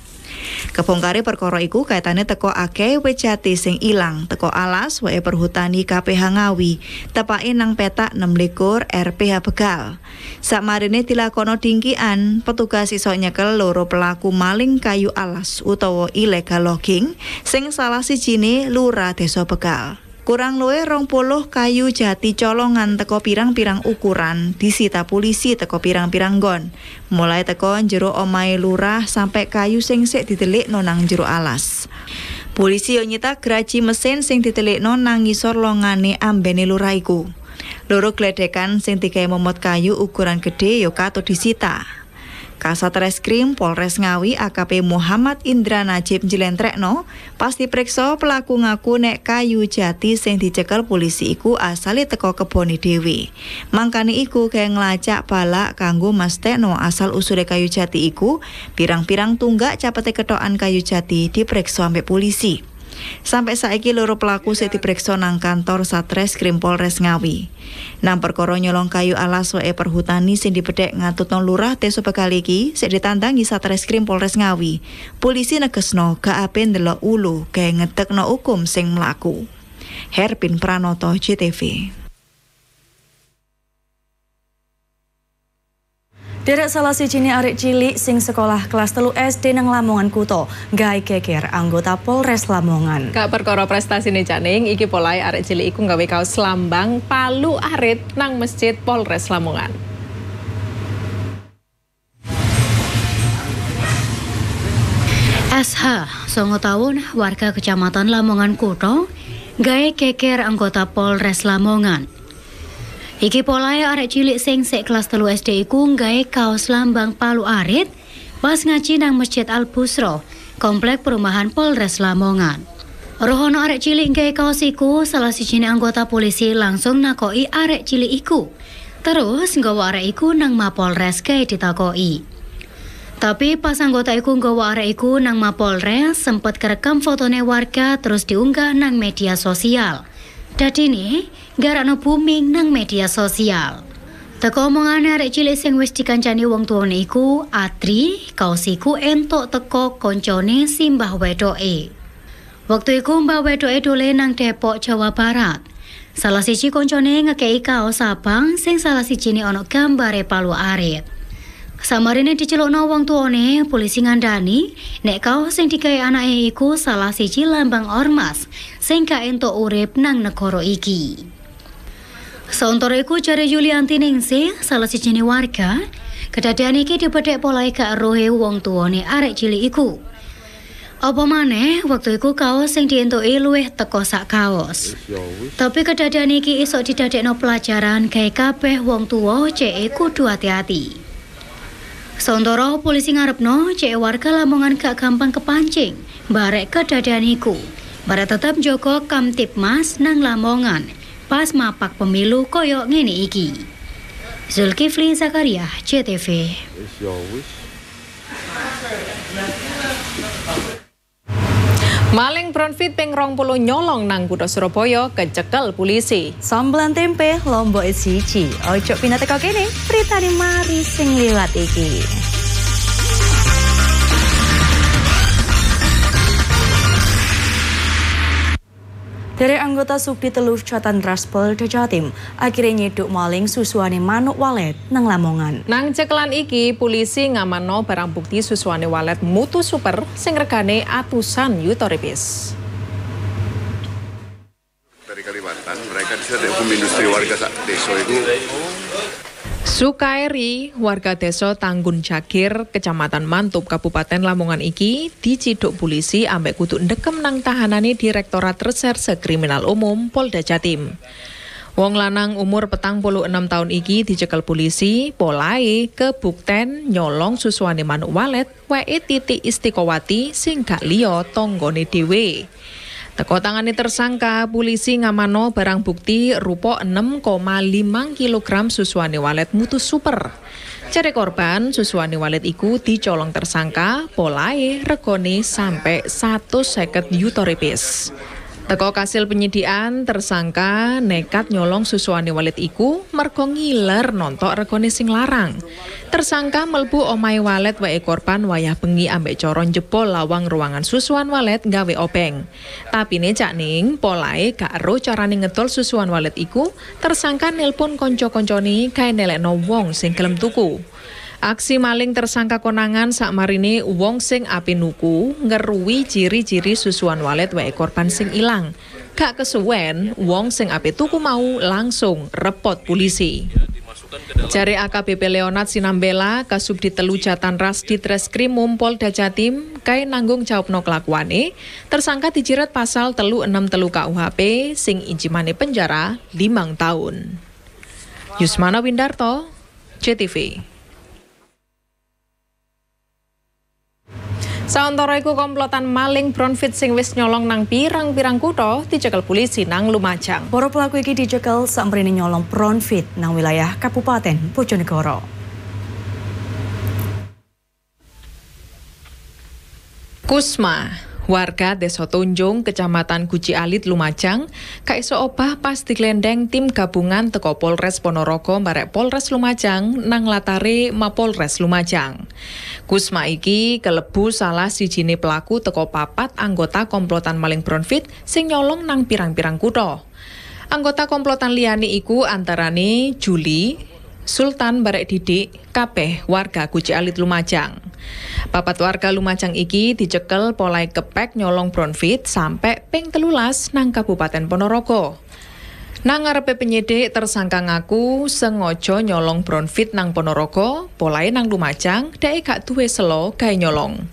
Kebongkare perkara iku kaitane teko akeh wit jati sing ilang teko alas wae perhutani KPH Ngawi, tepake nang petak 26 RPH Begal. Sakmarine dilakono dingkian, petugas iso nyekel loro pelaku maling kayu alas utawa illegal logging sing salah sijine lurah Desa Begal. Kurang luwih 20 kayu jati colongan teko pirang-pirang ukuran disita polisi teko pirang-pirang nggon. Mulai teko jero omahe lurah sampai kayu sing sik ditelikno nang jero alas. Polisi yo nyita graji mesin sing ditelikno nang ngisor longane ambene lurah iku. Loro gledekan sing digawe momot kayu ukuran gede yo katut disita. Kasat Reskrim Polres Ngawi AKP Muhammad Indra Najib njlentrekno pas diperiksa pelaku ngaku nek kayu jati sing dicekel polisi iku asale teko kebone dhewe. Mangkane iku gawe nglacak balak kanggo mastekno asal usule kayu jati iku, pirang-pirang tunggak capete kethokan kayu jati diperiksa ambek polisi. Sampai saiki loro pelaku sik diperiksa nang kantor Satreskrim Polres Ngawi. Nang perkara nyolong kayu alas wae perhutani sing dipedhek ngatutno lurah Desa Begal iki sik ditandangi Satreskrim Polres Ngawi. Polisi negesno gak ape ndelok ulu gawe ngedekno hukum sing mlaku. Herpin Pranoto, JTV. Derek salah sijine arek cilik sing sekolah kelas 3 SD nang Lamongan Kuto gawe geger anggota Polres Lamongan. Gak perkara prestasine Caning, iki polahe arek cilik iku gawe kaos lambang palu arit nang masjid Polres Lamongan. SH, 9 tahun, warga Kecamatan Lamongan Kuto, gawe geger anggota Polres Lamongan. Iki polahe arek cilik sing sik kelas 3 SD iku nggawe kaos lambang palu arit pas ngaji nang Masjid Al Busro, komplek perumahan Polres Lamongan. Rohono arek cilik nggawe kaos iku, salah sijine anggota polisi langsung nakoki arek cilik iku. Terus nggawa arek iku nang Mapolres gawe ditakoki. Tapi pas anggota iku nggawa arek iku nang Mapolres sempet kerekam fotone warga terus diunggah nang media sosial. Dadine garakno booming nang media sosial. Teko omongane arek cilik sing wis dikancani wong tuane iku, Atri, kaos iku entuk teko koncone simbah wedoke. Wektu iku mbah wedoke dolen nang Depok, Jawa Barat. Salah siji koncone ngekeki kaos abang sing salah sijine ana gambare palu arit. Samarine dicelukno wong tuane, polisi ngandani nek kaos sing digawe anake iku salah siji lambang ormas sing gak entuk urip nang negara iki. Sauntara iku jare Yulianti Ningsih, salah sijine warga, kedadean iki dibedhek polahe gak rohe wong tuane arek cilik iku. Apa maneh wektu iku kaos sing dientuki luwih teko sak kaos. Tapi kedadean iki isok didadekno pelajaran gawe kabeh wong tuwa cek kudu ati-ati. Sauntara polisi ngarepno cek warga Lamongan gak gampang kepancing barek kedadean iku. Barek tetep njaga Kamtibmas nang Lamongan pas mapak pemilu koyok ngene iki. Zulkifli Zakaria, JTV. Maling Bronfit ping 20 nyolong nang kutha Surabaya kecekel polisi. Sambelan tempe lombok siji. Ojo pindah teko kene, beritane mari sing liwat iki. Dari anggota Subdit Telu Jatanras Polda Jatim akhirnya nyiduk maling susuane manuk walet nang Lamongan. Nang cekelan iki polisi ngamanno barang bukti susuane walet mutu super sing regane atusan yuta rupiah. Dari Kalimantan mereka bisa hukum industri warga desa itu. Sukaeri, warga desa Tanggun Jakir, Kecamatan Mantup, Kabupaten Lamongan iki diciduk polisi ambek kudu ndekem nang tahanane Direktorat Reserse Kriminal Umum Polda Jatim. Wong lanang umur 46 tahun iki dicekel polisi polahe kebukten nyolong susuane manuk walet weke Titik Istiqowati sing gak liya tanggane dhewe. Teko tangane tersangka, polisi ngamano barang bukti rupa 6,5 kg susuane walet mutu super. Cari korban, susuane walet iku dicolong tersangka, polahe regone sampai 150 yuta rupiah. Teko kasil penyidikan, tersangka nekat nyolong susuane walet iku mergo ngiler nontok regone sing larang. Tersangka melbu omahe walet wae korban wayah bengi ambek cara njebol lawang ruangan susuan walet gawe obeng. Tapi ne Cak Ning, polahe gak ero carane ngedol susuan walet iku, tersangka nelpon kanca-kancane gawe nelekno wong sing gelem tuku. Aksi maling tersangka konangan sakmarine wong sing ape nuku ngeruwi ciri-ciri susuan walet wae korban sing ilang. Gak kesuwen, wong sing ape tuku mau langsung repot polisi. Jare AKBP Leonard Sinambela, Kasubdit Telu Jatanras Ditreskrimum Polda Jatim, kae nanggung jawabno kelakuane, tersangka dijerat pasal 363 KUHP sing injimane penjara 5 tahun. Yusmana Windarto, JTV. Sauntara iku komplotan maling Bronfit sing wis nyolong nang pirang-pirang kutha dicekel polisi nang Lumajang. Para pelaku iki dicekel samprene nyolong Bronfit nang wilayah Kabupaten Bojonegoro. Kusma, warga Desa Tunjung, Kecamatan Guci Alit, Lumajang, gak iso obah pas diglendeng tim gabungan teko Polres Ponorogo barek Polres Lumajang nang latare Mapolres Lumajang. Kusma iki kelebu salah sijine pelaku teko papat anggota komplotan maling Bronfit sing nyolong nang pirang-pirang kutha. Anggota komplotan liyane iku antarane Juli, Sultan barek Didik, kabeh warga Guci Alit Lumajang. Papat warga Lumajang iki dicekel polahe kepek nyolong Bronfit sampai ping 13 nang Kabupaten Ponorogo. Nang ngarepe penyidik tersangka ngaku sengaja nyolong Bronfit nang Ponorogo, polahe nang Lumajang, dhek gak duwe selo gawe nyolong.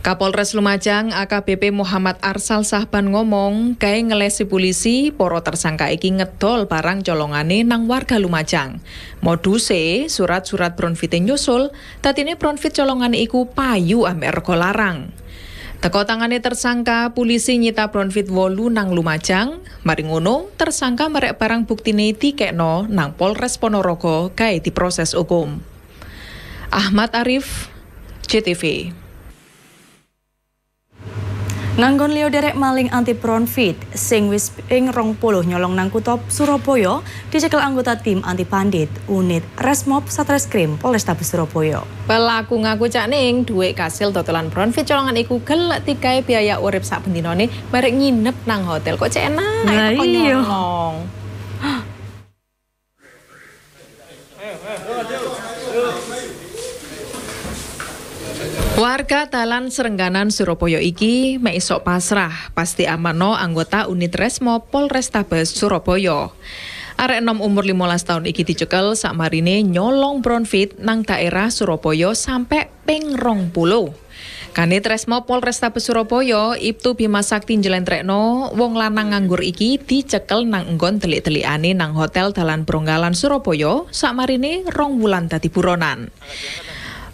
Kapolres Lumajang AKBP Muhammad Arsal Sahban ngomong gawe ngelesi polisi para tersangka iki ngedol barang colongane nang warga Lumajang. Moduse surat-surat Bronfite nyusul, dadine Bronfit colongane iku payu ambek rego larang. Teko tangane tersangka, polisi nyita Bronfit 8 nang Lumajang. Mari ngono, tersangka merek barang buktine dikekno nang Polres Ponorogo gawe diproses hukum. Ahmad Arif, JTV. Nganggon liya derek maling anti Bronfit sing wis ping 20 nyolong nang kutha Surabaya dicekel anggota tim anti bandit unit Resmob Satreskrim Polrestabes Surabaya. Pelaku ngaku Cak Ning dhuwit kasil dodolan Bronfit colongan iku gelek digawe biaya urip sak bendinane barek nginep nang hotel. Kok cek enak kok nyolong. Warga Dalan Serengganan Surabaya iki mek isok pasrah pasti amano anggota unit Resmo Polrestabes Surabaya. Arek enom umur 15 tahun iki dicekel sakmarine nyolong Bronfit nang daerah Surabaya sampai ping 20. Kanit Resmo Polrestabes Surabaya Ibtu Bima Sakti njlentrekno wong lanang nganggur iki dicekel nang nggon delik-delikane nang hotel Dalan Bronggalan Surabaya sakmarine 2 wulan dadi buronan.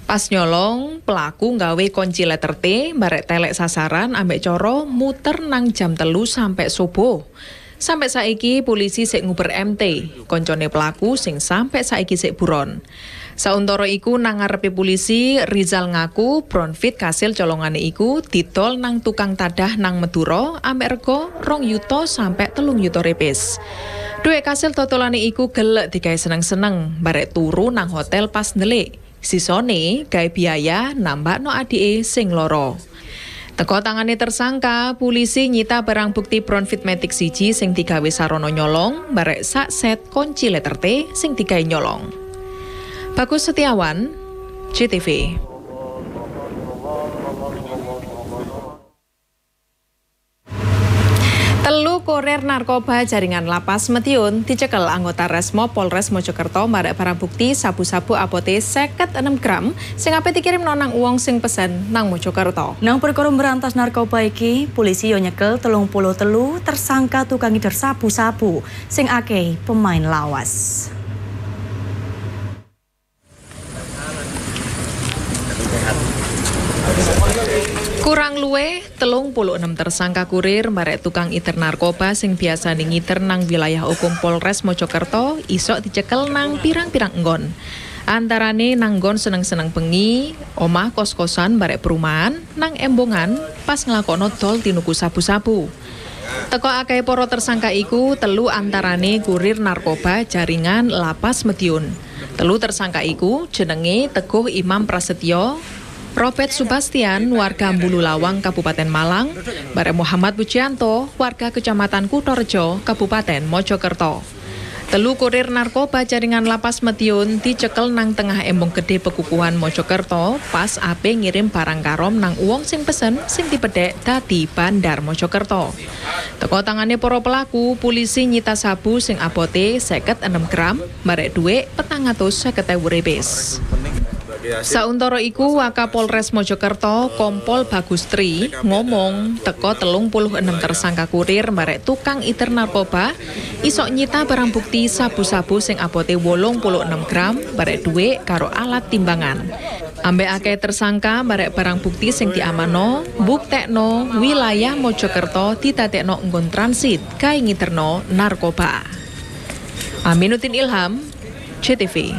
Pas nyolong, pelaku nggawe kunci letter T, barek telek sasaran ambek coro muter nang jam 3 sampai subuh. Sampai saiki polisi sik nguber MT, koncone pelaku sing sampai saiki sik buron. Sauntara iku nang ngarepe polisi, Rizal ngaku Bronfit kasil colongane iku didol nang tukang tadah nang Madura ambek rego 2 yuta sampai 3 yuta repes. Duit kasil totolane iku gelek digawe seneng-seneng barek turu nang hotel pas ndelik. Sisone gawe biaya nambakno adike sing loro. Teko tangane tersangka, polisi nyita barang bukti Bronfit Matic 1 sing digawe sarana nyolong barek sak set kunci letter T sing digawe nyolong. Bagus Setiawan, JTV. Telu kurir narkoba jaringan Lapas Madiun dicekel anggota Resmo Polres Mojokerto marek barang bukti sabu-sabu abote 56 gram sing ape dikirim nang uwong sing pesen nang Mojokerto. Nang perkara berantas narkoba iki, polisi yo nyekel 33 tersangka tukang ngider sabu-sabu sing akeh pemain lawas. Kurang luwe 36 tersangka kurir barek tukang iter narkoba sing biasa ngiter nang wilayah hukum Polres Mojokerto isok dicekel nang pirang-pirang enggon. Antarane nang nggon seneng-seneng bengi, omah kos-kosan barek perumahan, nang embongan pas nglakokno dol tinuku sabu-sabu. Teko akeh para tersangka iku 3 antarane kurir narkoba jaringan Lapas Madiun. 3 tersangka iku jenenge Teguh Imam Prasetyo, Robert Subastian, warga Bululawang, Kabupaten Malang, bareng Muhammad Pujianto, warga Kecamatan Kutorejo, Kabupaten Mojokerto. 3 kurir narkoba jaringan Lapas Madiun dicekel nang tengah embong gede Pekukuhan Mojokerto pas ape ngirim barang karom nang uwong sing pesen sing dipedhek dadi Bandar Mojokerto. Teko tangane para pelaku, polisi nyita sabu sing abote 56 gram barek dhuwit 450.000 repes. Sauntara iku Wakapolres Mojokerto Kompol Bagus Tri ngomong teko 36 tersangka kurir barek tukang iter narkoba isok nyita barang bukti sabu-sabu sing abote 86 gram barek dhuwit karo alat timbangan. Ambek akeh tersangka barek barang bukti sing diamano buktekno wilayah Mojokerto didadekno nggon transit gawe ngiterno narkoba. Aminuddin Ilham, JTV.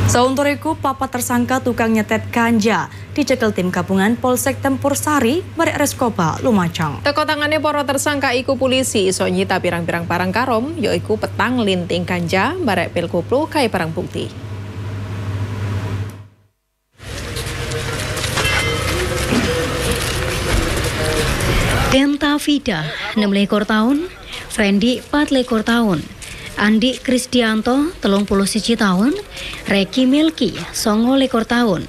Sauntara iku papat tersangka tukang nyetet ganja dicekel tim gabungan Polsek Tempur Sari barek Reskoba Lumajang. Teko tangane para tersangka iku polisi iso nyita pirang-pirang barang karom yaiku petang linting ganja barek pil koplo kae barang bukti. Denta Vida 26 tahun, Fendi 24 tahun, Andi Krisdianto 31 tahun, Reki Milki 29 tahun.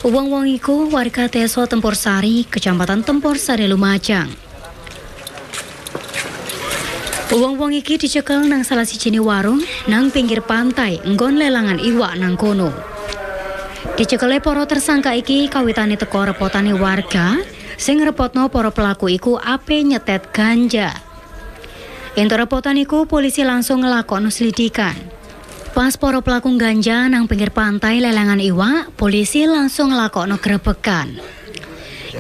Wong-wong iku warga Desa Tempur Sari, Kecamatan Tempur Sari, Lumajang. Wong-wong iki dicekel nang salah sijine warung nang pinggir pantai nggon lelangan iwak nang kono. Dicekele para tersangka iki kawitane teko repotane warga sing repotno para pelaku iku ape nyetet ganja. Entuk repotan iku polisi langsung ngelakokno selidikan. Pas para pelaku ganja nang pinggir pantai lelangan iwak, polisi langsung ngelakokno grebekan.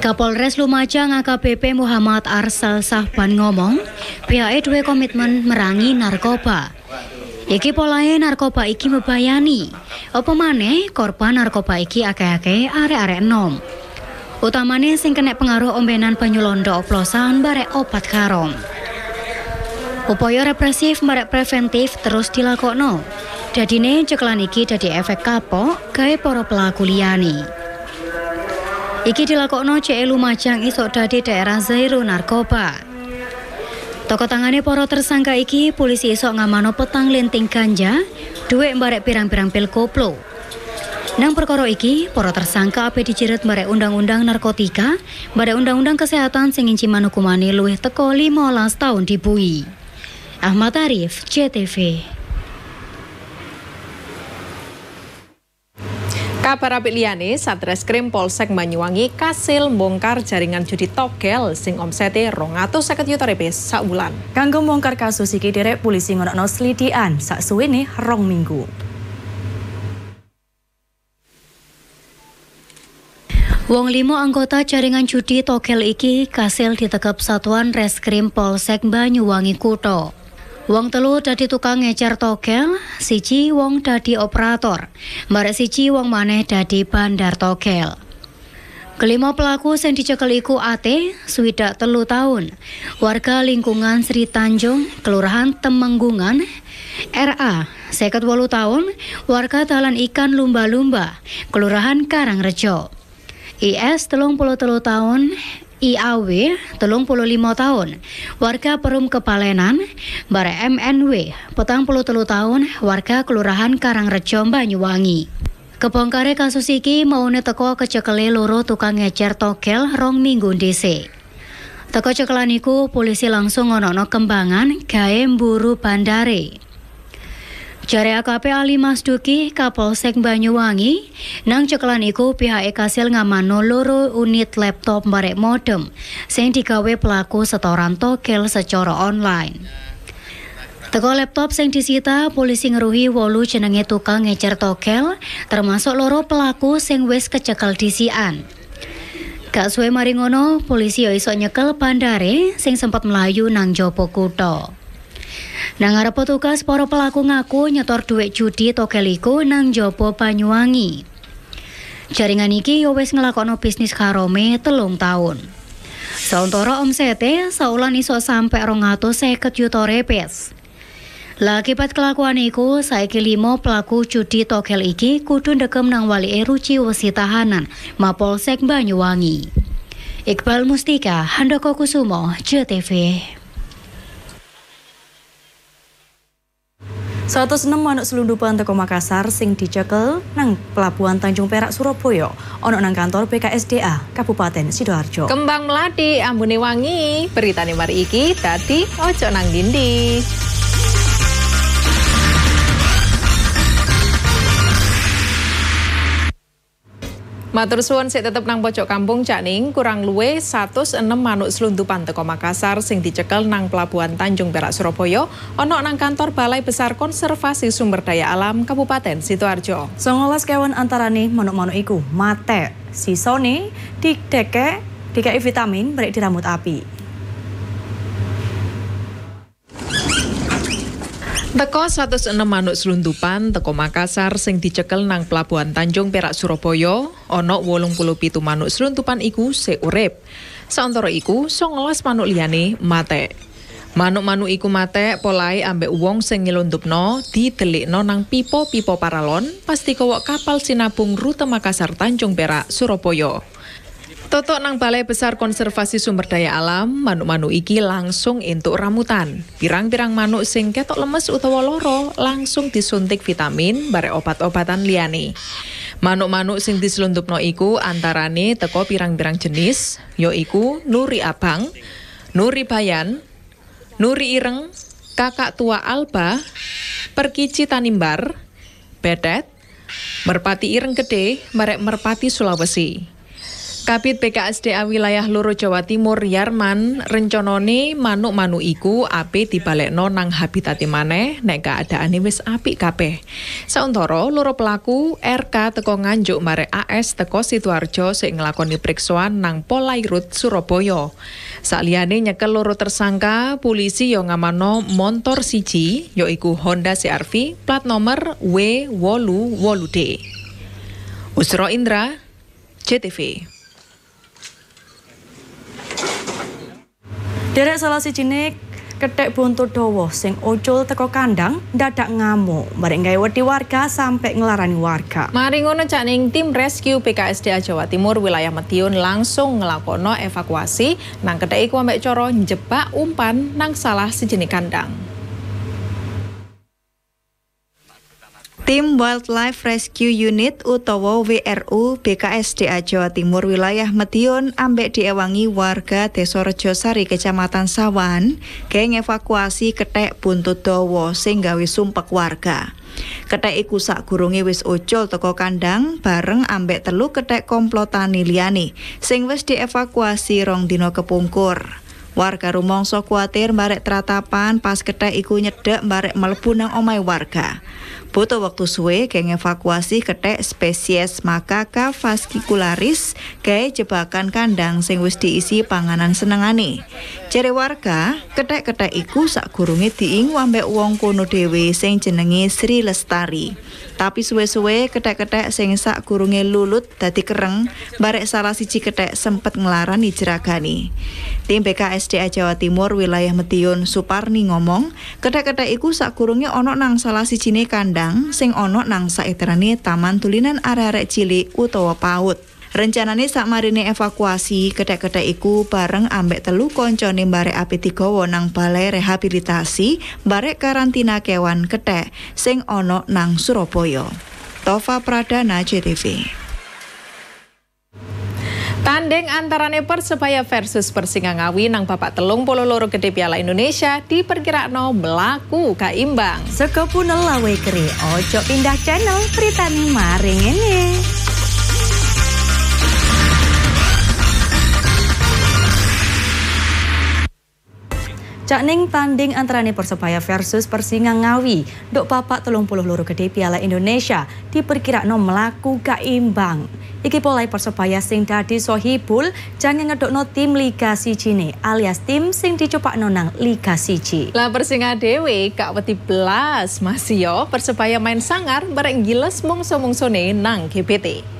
Kapolres Lumajang AKBP Muhammad Arsal Sahban ngomong, pihake duwe komitmen merangi narkoba. Iki polahe narkoba iki mebayani. Apa maneh korban narkoba iki akeh-akeh arek-arek enom. Utamane sing kena pengaruh ombenan banyu londo oplosan barek obat haram. Upaya represif barek preventif terus dilakokno. Dadine ceklan iki dadi efek kapok gawe para pelaku liyane. Iki dilakokno cek Lumajang isok dadi daerah zero narkoba. Toko tangane para tersangka iki polisi isok ngamano petang linting ganja, dhuwit barek pirang-pirang pil koplo. Nang perkara iki, para tersangka ape dijerat barek undang-undang narkotika, barek undang-undang kesehatan sing nginciman hukumane luwih teko 15 tahun dibui. Ahmad Arif, JTV. Kabar apik liyane, Satreskrim Polsek Banyuwangi kasil mbongkar jaringan judi togel sing omsete 250 juta rupiah sak wulan. Kanggo mbongkar kasus iki derek polisi ngonokno selidikan sak suwene 2 minggu. Wong 5 anggota jaringan judi togel iki kasil ditekep Satuan Reskrim Polsek Banyuwangi Kutha. Wong telu dadi tukang ngecer togel, siji wong dadi operator, barek siji wong maneh dadi bandar togel. Kelima pelaku sing dicekel iku AT, 63 tahun, warga lingkungan Sri Tanjung, Kelurahan Temenggungan, RA, 58 tahun, warga Dalan Ikan Lumba-Lumba, Kelurahan Karangrejo, IS, 33 tahun, IAW, 35 tahun, warga Perum Kepalenan, bare MNW, 43 tahun, warga Kelurahan Karangrejo, Banyuwangi. Kebongkare kasus iki maune teko kecekele loro tukang ngecer togel 2 minggu dhisik. Teko cekelan iku polisi langsung ngono kembangan gawe mburu bandare. Jare AKP Ali Masduki Kapolsek Banyuwangi, nang cekelan iku pihake kasil ngamano 2 unit laptop barek modem sing digawe pelaku setoran togel secara online. Teko laptop sing disita, polisi ngeruhi 8 jenenge tukang ngecer togel, termasuk 2 pelaku sing wis kecekel disian. Gak suwe mari ngono, polisi yo iso nyekel bandare sing sempat melayu nang jopo kutha. Nang ngarep petugas, para pelaku ngaku nyetor dhuwit judi togel iku nang jopo Banyuwangi. Jaringan iki yo wis nglakokno bisnis harame 3 tahun. Sauntara omsete saulan iso sampe 250 juta rupiah. Lah akibat kelakuan iku, saiki 5 pelaku judi togel iki kudu ndekem nang walike ruci wesi tahanan Mapolsek Banyuwangi. Iqbal Mustika, Handoko Kusumo, JTV. 106 manuk selundupan teko Makassar sing dicekel nang Pelabuhan Tanjung Perak Surabaya ana nang kantor BKSDA Kabupaten Sidoarjo. Kembang melati ambune wangi, beritane mari iki dadi ojo nang dindi. Matur suwun sik tetep nang pojok kampung Cak Ning, kurang luwe 106 manuk selundupan teko Makassar sing dicekel nang Pelabuhan Tanjung Perak Surabaya ana nang kantor Balai Besar Konservasi Sumber Daya Alam Kabupaten Sidoarjo. 19 kewan antarane manuk-manuk iku mate, sisone didekek dikei vitamin brek diramut api. Teko 106 manuk selundupan teko Makassar sing dicekel nang Pelabuhan Tanjung Perak Surabaya, ana 87 manuk selundupan iku sik urip. Sauntara iku 19 manuk liyane mate. Manuk-manuk iku mate polahe ambek wong sing nyelundupno didelikno nang pipa-pipa paralon pas dikowok kapal sinabung rute Makassar Tanjung Perak Surabaya. Totok nang Balai Besar Konservasi Sumber Daya Alam, manuk-manuk iki langsung entuk ramutan. Pirang-pirang manuk sing ketok lemes utawa loro langsung disuntik vitamin barek obat-obatan liyane. Manuk-manuk sing diselundupno iku antarane teko pirang-pirang jenis, yaiku nuri abang, nuri bayan, nuri ireng, kakak tua alba, perkici tanimbar, bedet, merpati ireng gede, barek merpati Sulawesi. Kabid BKSDA wilayah Loro Jawa Timur Yarman renconone manuk-manuk iku ape dibalekno nang habitate maneh nek keadaane wis apik kabeh. Sauntara loro pelaku RK teko Nganjuk marek AS teko Sidoarjo sing nglakoni priksoan nang Polairut Surabaya. Saliyane nyekel loro tersangka, polisi yo ngamano montor siji yaiku Honda CR-V plat nomor W88D. Usro Indra, JTV. Derek salah sijine kethek buntut dawa sing ucul teko kandang dadak ngamuk bareng gawe wedi warga sampai ngelarani warga. Mari ngono Cak Ning, tim rescue BKSDA Jawa Timur wilayah Madiun langsung ngelakono evakuasi nang kethek iku ambek cara njebak umpan nang salah sijine kandang. Tim Wildlife Rescue Unit utawa WRU BKSDA Jawa Timur wilayah Madiun ambek diewangi warga Desa Rejosari Kecamatan Sawan gawe evakuasi kethek buntut dawa sing gawe sumpek warga. Kethek iku sakgurunge wis ucul teko kandang bareng ambek telu kethek komplotane liyane sing wis dievakuasi 2 dina kepungkur. Warga rumangsa kuatir barek tratapan pas kethek iku nyedek barek mlebu nang omahe warga. Butuh waktu suwe geng evakuasi kethek spesies Macaca fascicularis gawe jebakan kandang sing wis diisi panganan senengane. Jere warga, kethek-kethek iku sakgurunge diingu ambek wong kono dhewe sing jenenge Sri Lestari. Tapi suwe-suwe kethek-kethek sing sakgurunge lulut dadi kereng, barek salah siji kethek sempet nglarani jeragane. Tim BKSDA Jawa Timur wilayah Madiun Suparni ngomong, kethek-kethek iku sakgurunge ana nang salah sijine kandang sing ana nang saiterane taman tulinan arek-arek cilik utawa PAUD. Rencanane sakmarine evakuasi, kethek-kethek iku bareng ambek telu koncone barek ape digawa nang balai rehabilitasi barek karantina kewan kethek sing ana nang Surabaya. Tova Pradana, JTV. Tanding antarane Persebaya versus Persinga Ngawi nang babak 32 gede Piala Indonesia diperkirakno mlaku gak imbang. Sego punel lawe keri, ojo pindah channel, beritane maring ngene. Cak ning tanding antarane Persebaya versus Persinga Ngawi nduk babak 32 gede Piala Indonesia diperkirakno mlaku gak imbang. Iki polahe Persebaya sing dadi sohibul jangan ngedokno tim Liga 1 alias tim sing dicepakno nang Liga 1. Lah Persinga dhewe gak wedi blas, masih yo Persebaya main sangar bareng giles mungso-mungsone nang GBT.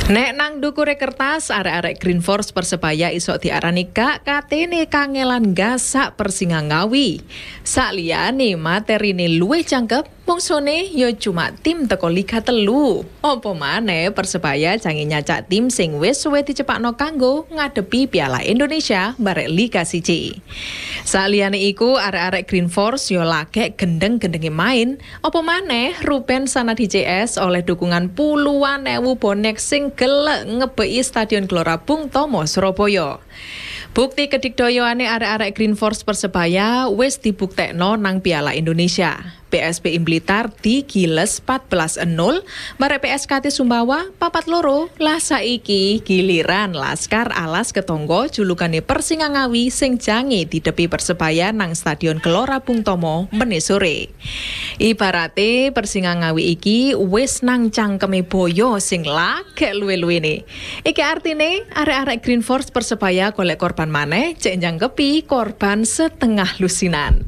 Nek nang dukure kertas, arek-arek Green Force Persebaya isok diarani gak katene kangelan gasak Persinga Ngawi. Sakliyane materine luwih jangkep, mungsone ya cuma tim teko Liga 3. Apa maneh Persebaya jange nyacak tim sing wis suwe dicepakno kanggo ngadepi Piala Indonesia barek Liga 1. Sakliyane iku arek-arek Green Force yo lagek gendeng-gendenge main. Apa maneh Ruben Sanadi CS oleh dukungan puluhan ewu bonek sing gelek ngebeki Stadion Gelora Bung Tomo Surabaya. Bukti kedikdoyoane arek-arek Green Force Persebaya wis dibuktekno nang Piala Indonesia. PSPI Blitar digiles 14-0, barek PSKT Sumbawa 4-2. Lah saiki giliran Laskar Alas Ketonggo julukane Persinga Ngawi sing jange didepi Persebaya nang Stadion Gelora Bung Tomo mene sore. Ibarate Persinga Ngawi iki wis nang cangkeme boyo sing lagek luwe-luwene. Iki artine arek-arek Green Force Persebaya golek korban maneh cek njangkepi korban setengah lusinan.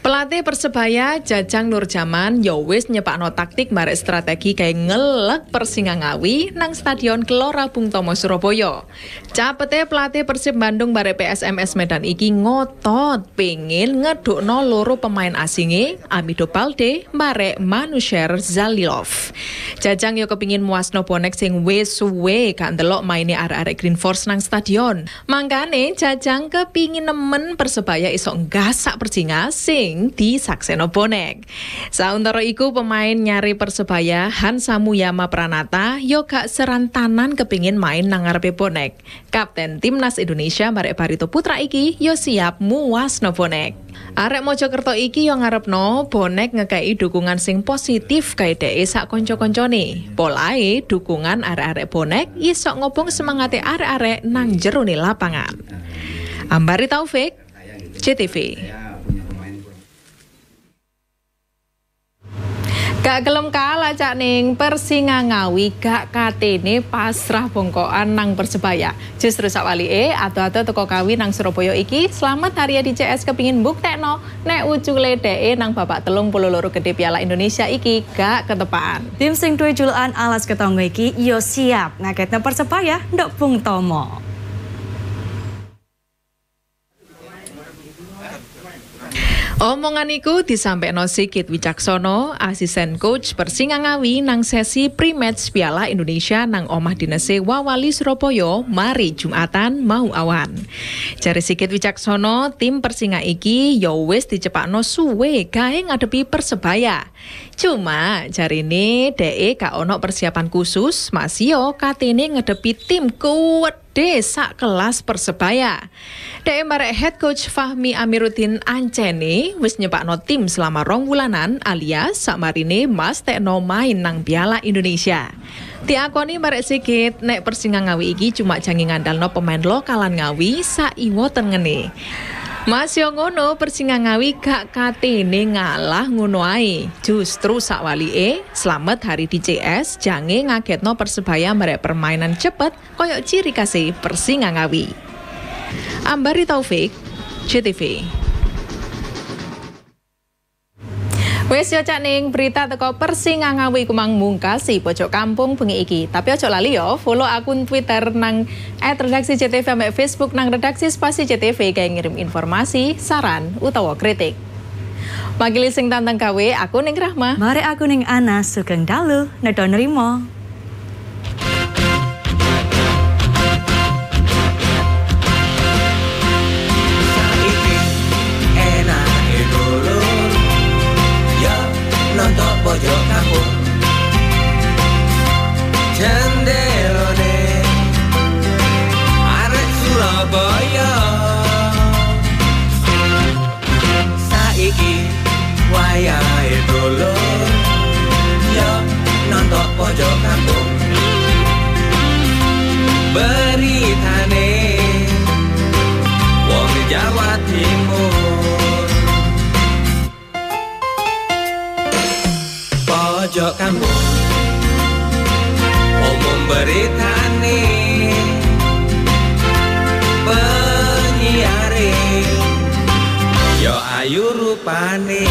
Pelatih Persebaya Jajang Nurjaman yo wis nyepakno taktik barek strategi gawe ngelek Persinga Ngawi nang Stadion Gelora Bung Tomo Surabaya. Capete pelatih Persib Bandung barek PSMS Medan iki ngotot pengin ngedukno loro pemain asinge Amido Balde barek Manusher Zalilov. Jajang yo kepingin muasno bonek sing wis suwe gak ndelok maine arek-arek Green Force nang stadion. Mangkane Jajang kepingin nemen Persebaya iso nggasak Persinga sing disakseno bonek. Sauntara iku pemain nyari Persebaya Hansamu Yama Pranata yo gak serantanan kepingin main nang ngarepe bonek. Kapten Timnas Indonesia barek Barito Putra iki yo siap muasno bonek. Arek Mojokerto iki yo ngarepno bonek ngekei dukungan sing positif gawe dheke sak kanca-kancane. Polahe dukungan arek-arek bonek iso ngobong semangate arek-arek nang jerone lapangan. Ambari Taufik, JTV. Gak gelem kalah Cak Ning, Persinga Ngawi gak katene pasrah bongkoan nang Persebaya. Justru sawalike ado-ado teko Kawi nang Surabaya iki Slamet Haryadi CS kepingin buktekno nek ucule dheke nang babak 32 gede Piala Indonesia iki gak ketepaan. Tim sing duwe julukan Alas Ketonggo iki yo siap ngagetno Persebaya nduk Bung Tomo. Omongan iku disampaikan Sigit Wicaksono, asisten coach Persinga Ngawi nang sesi pre-match Piala Indonesia nang omah dinese Wawali Surabaya mari Jumatan mau awan. Jare Sigit Wicaksono, tim Persinga iki yo wis dicepakno suwe gawe ngadepi Persebaya. Cuma jarine dheke gak ono persiapan khusus, masih yo katene ngedepi tim kuwet gede sak kelas Persebaya. Dhek marek head coach Fahmi Amiruddin ancene wis nyepakno tim selama 2 wulanan alias sakmarine mastekno main nang Piala Indonesia. Diakoni marek Sigit nek Persinga Ngawi iki cuma jange ngandalno pemain lokalan Ngawi saiwo tengene. Mas yo ngono Persinga Ngawi gak katene ngalah ngono ae. Justru sakwalike Slamet Hari di CS jange ngagetno Persebaya merek permainan cepet koyok ciri khase Persinga Ngawi. Ambari Taufik, JTV. Wes yo Cak Ning, berita teko Persinga Ngawi ku mang mungkasi pojok kampung bengi iki. Tapi ojo lali yo follow akun Twitter nang @redaksijtv ambek Facebook nang redaksi spasi JTV kayak ngirim informasi, saran utawa kritik. Makili sing tantang gawe, aku Ning Rahma. Mari aku Ning Ana, sugeng dalu, nedha nrimo. Pojok kampung jendelone arek Surabaya saiki wayahe dulur yo nonton pojok kampung beritane wong Jawa Timur. Pojok kampung umum beritane penyiare yo ayu rupane.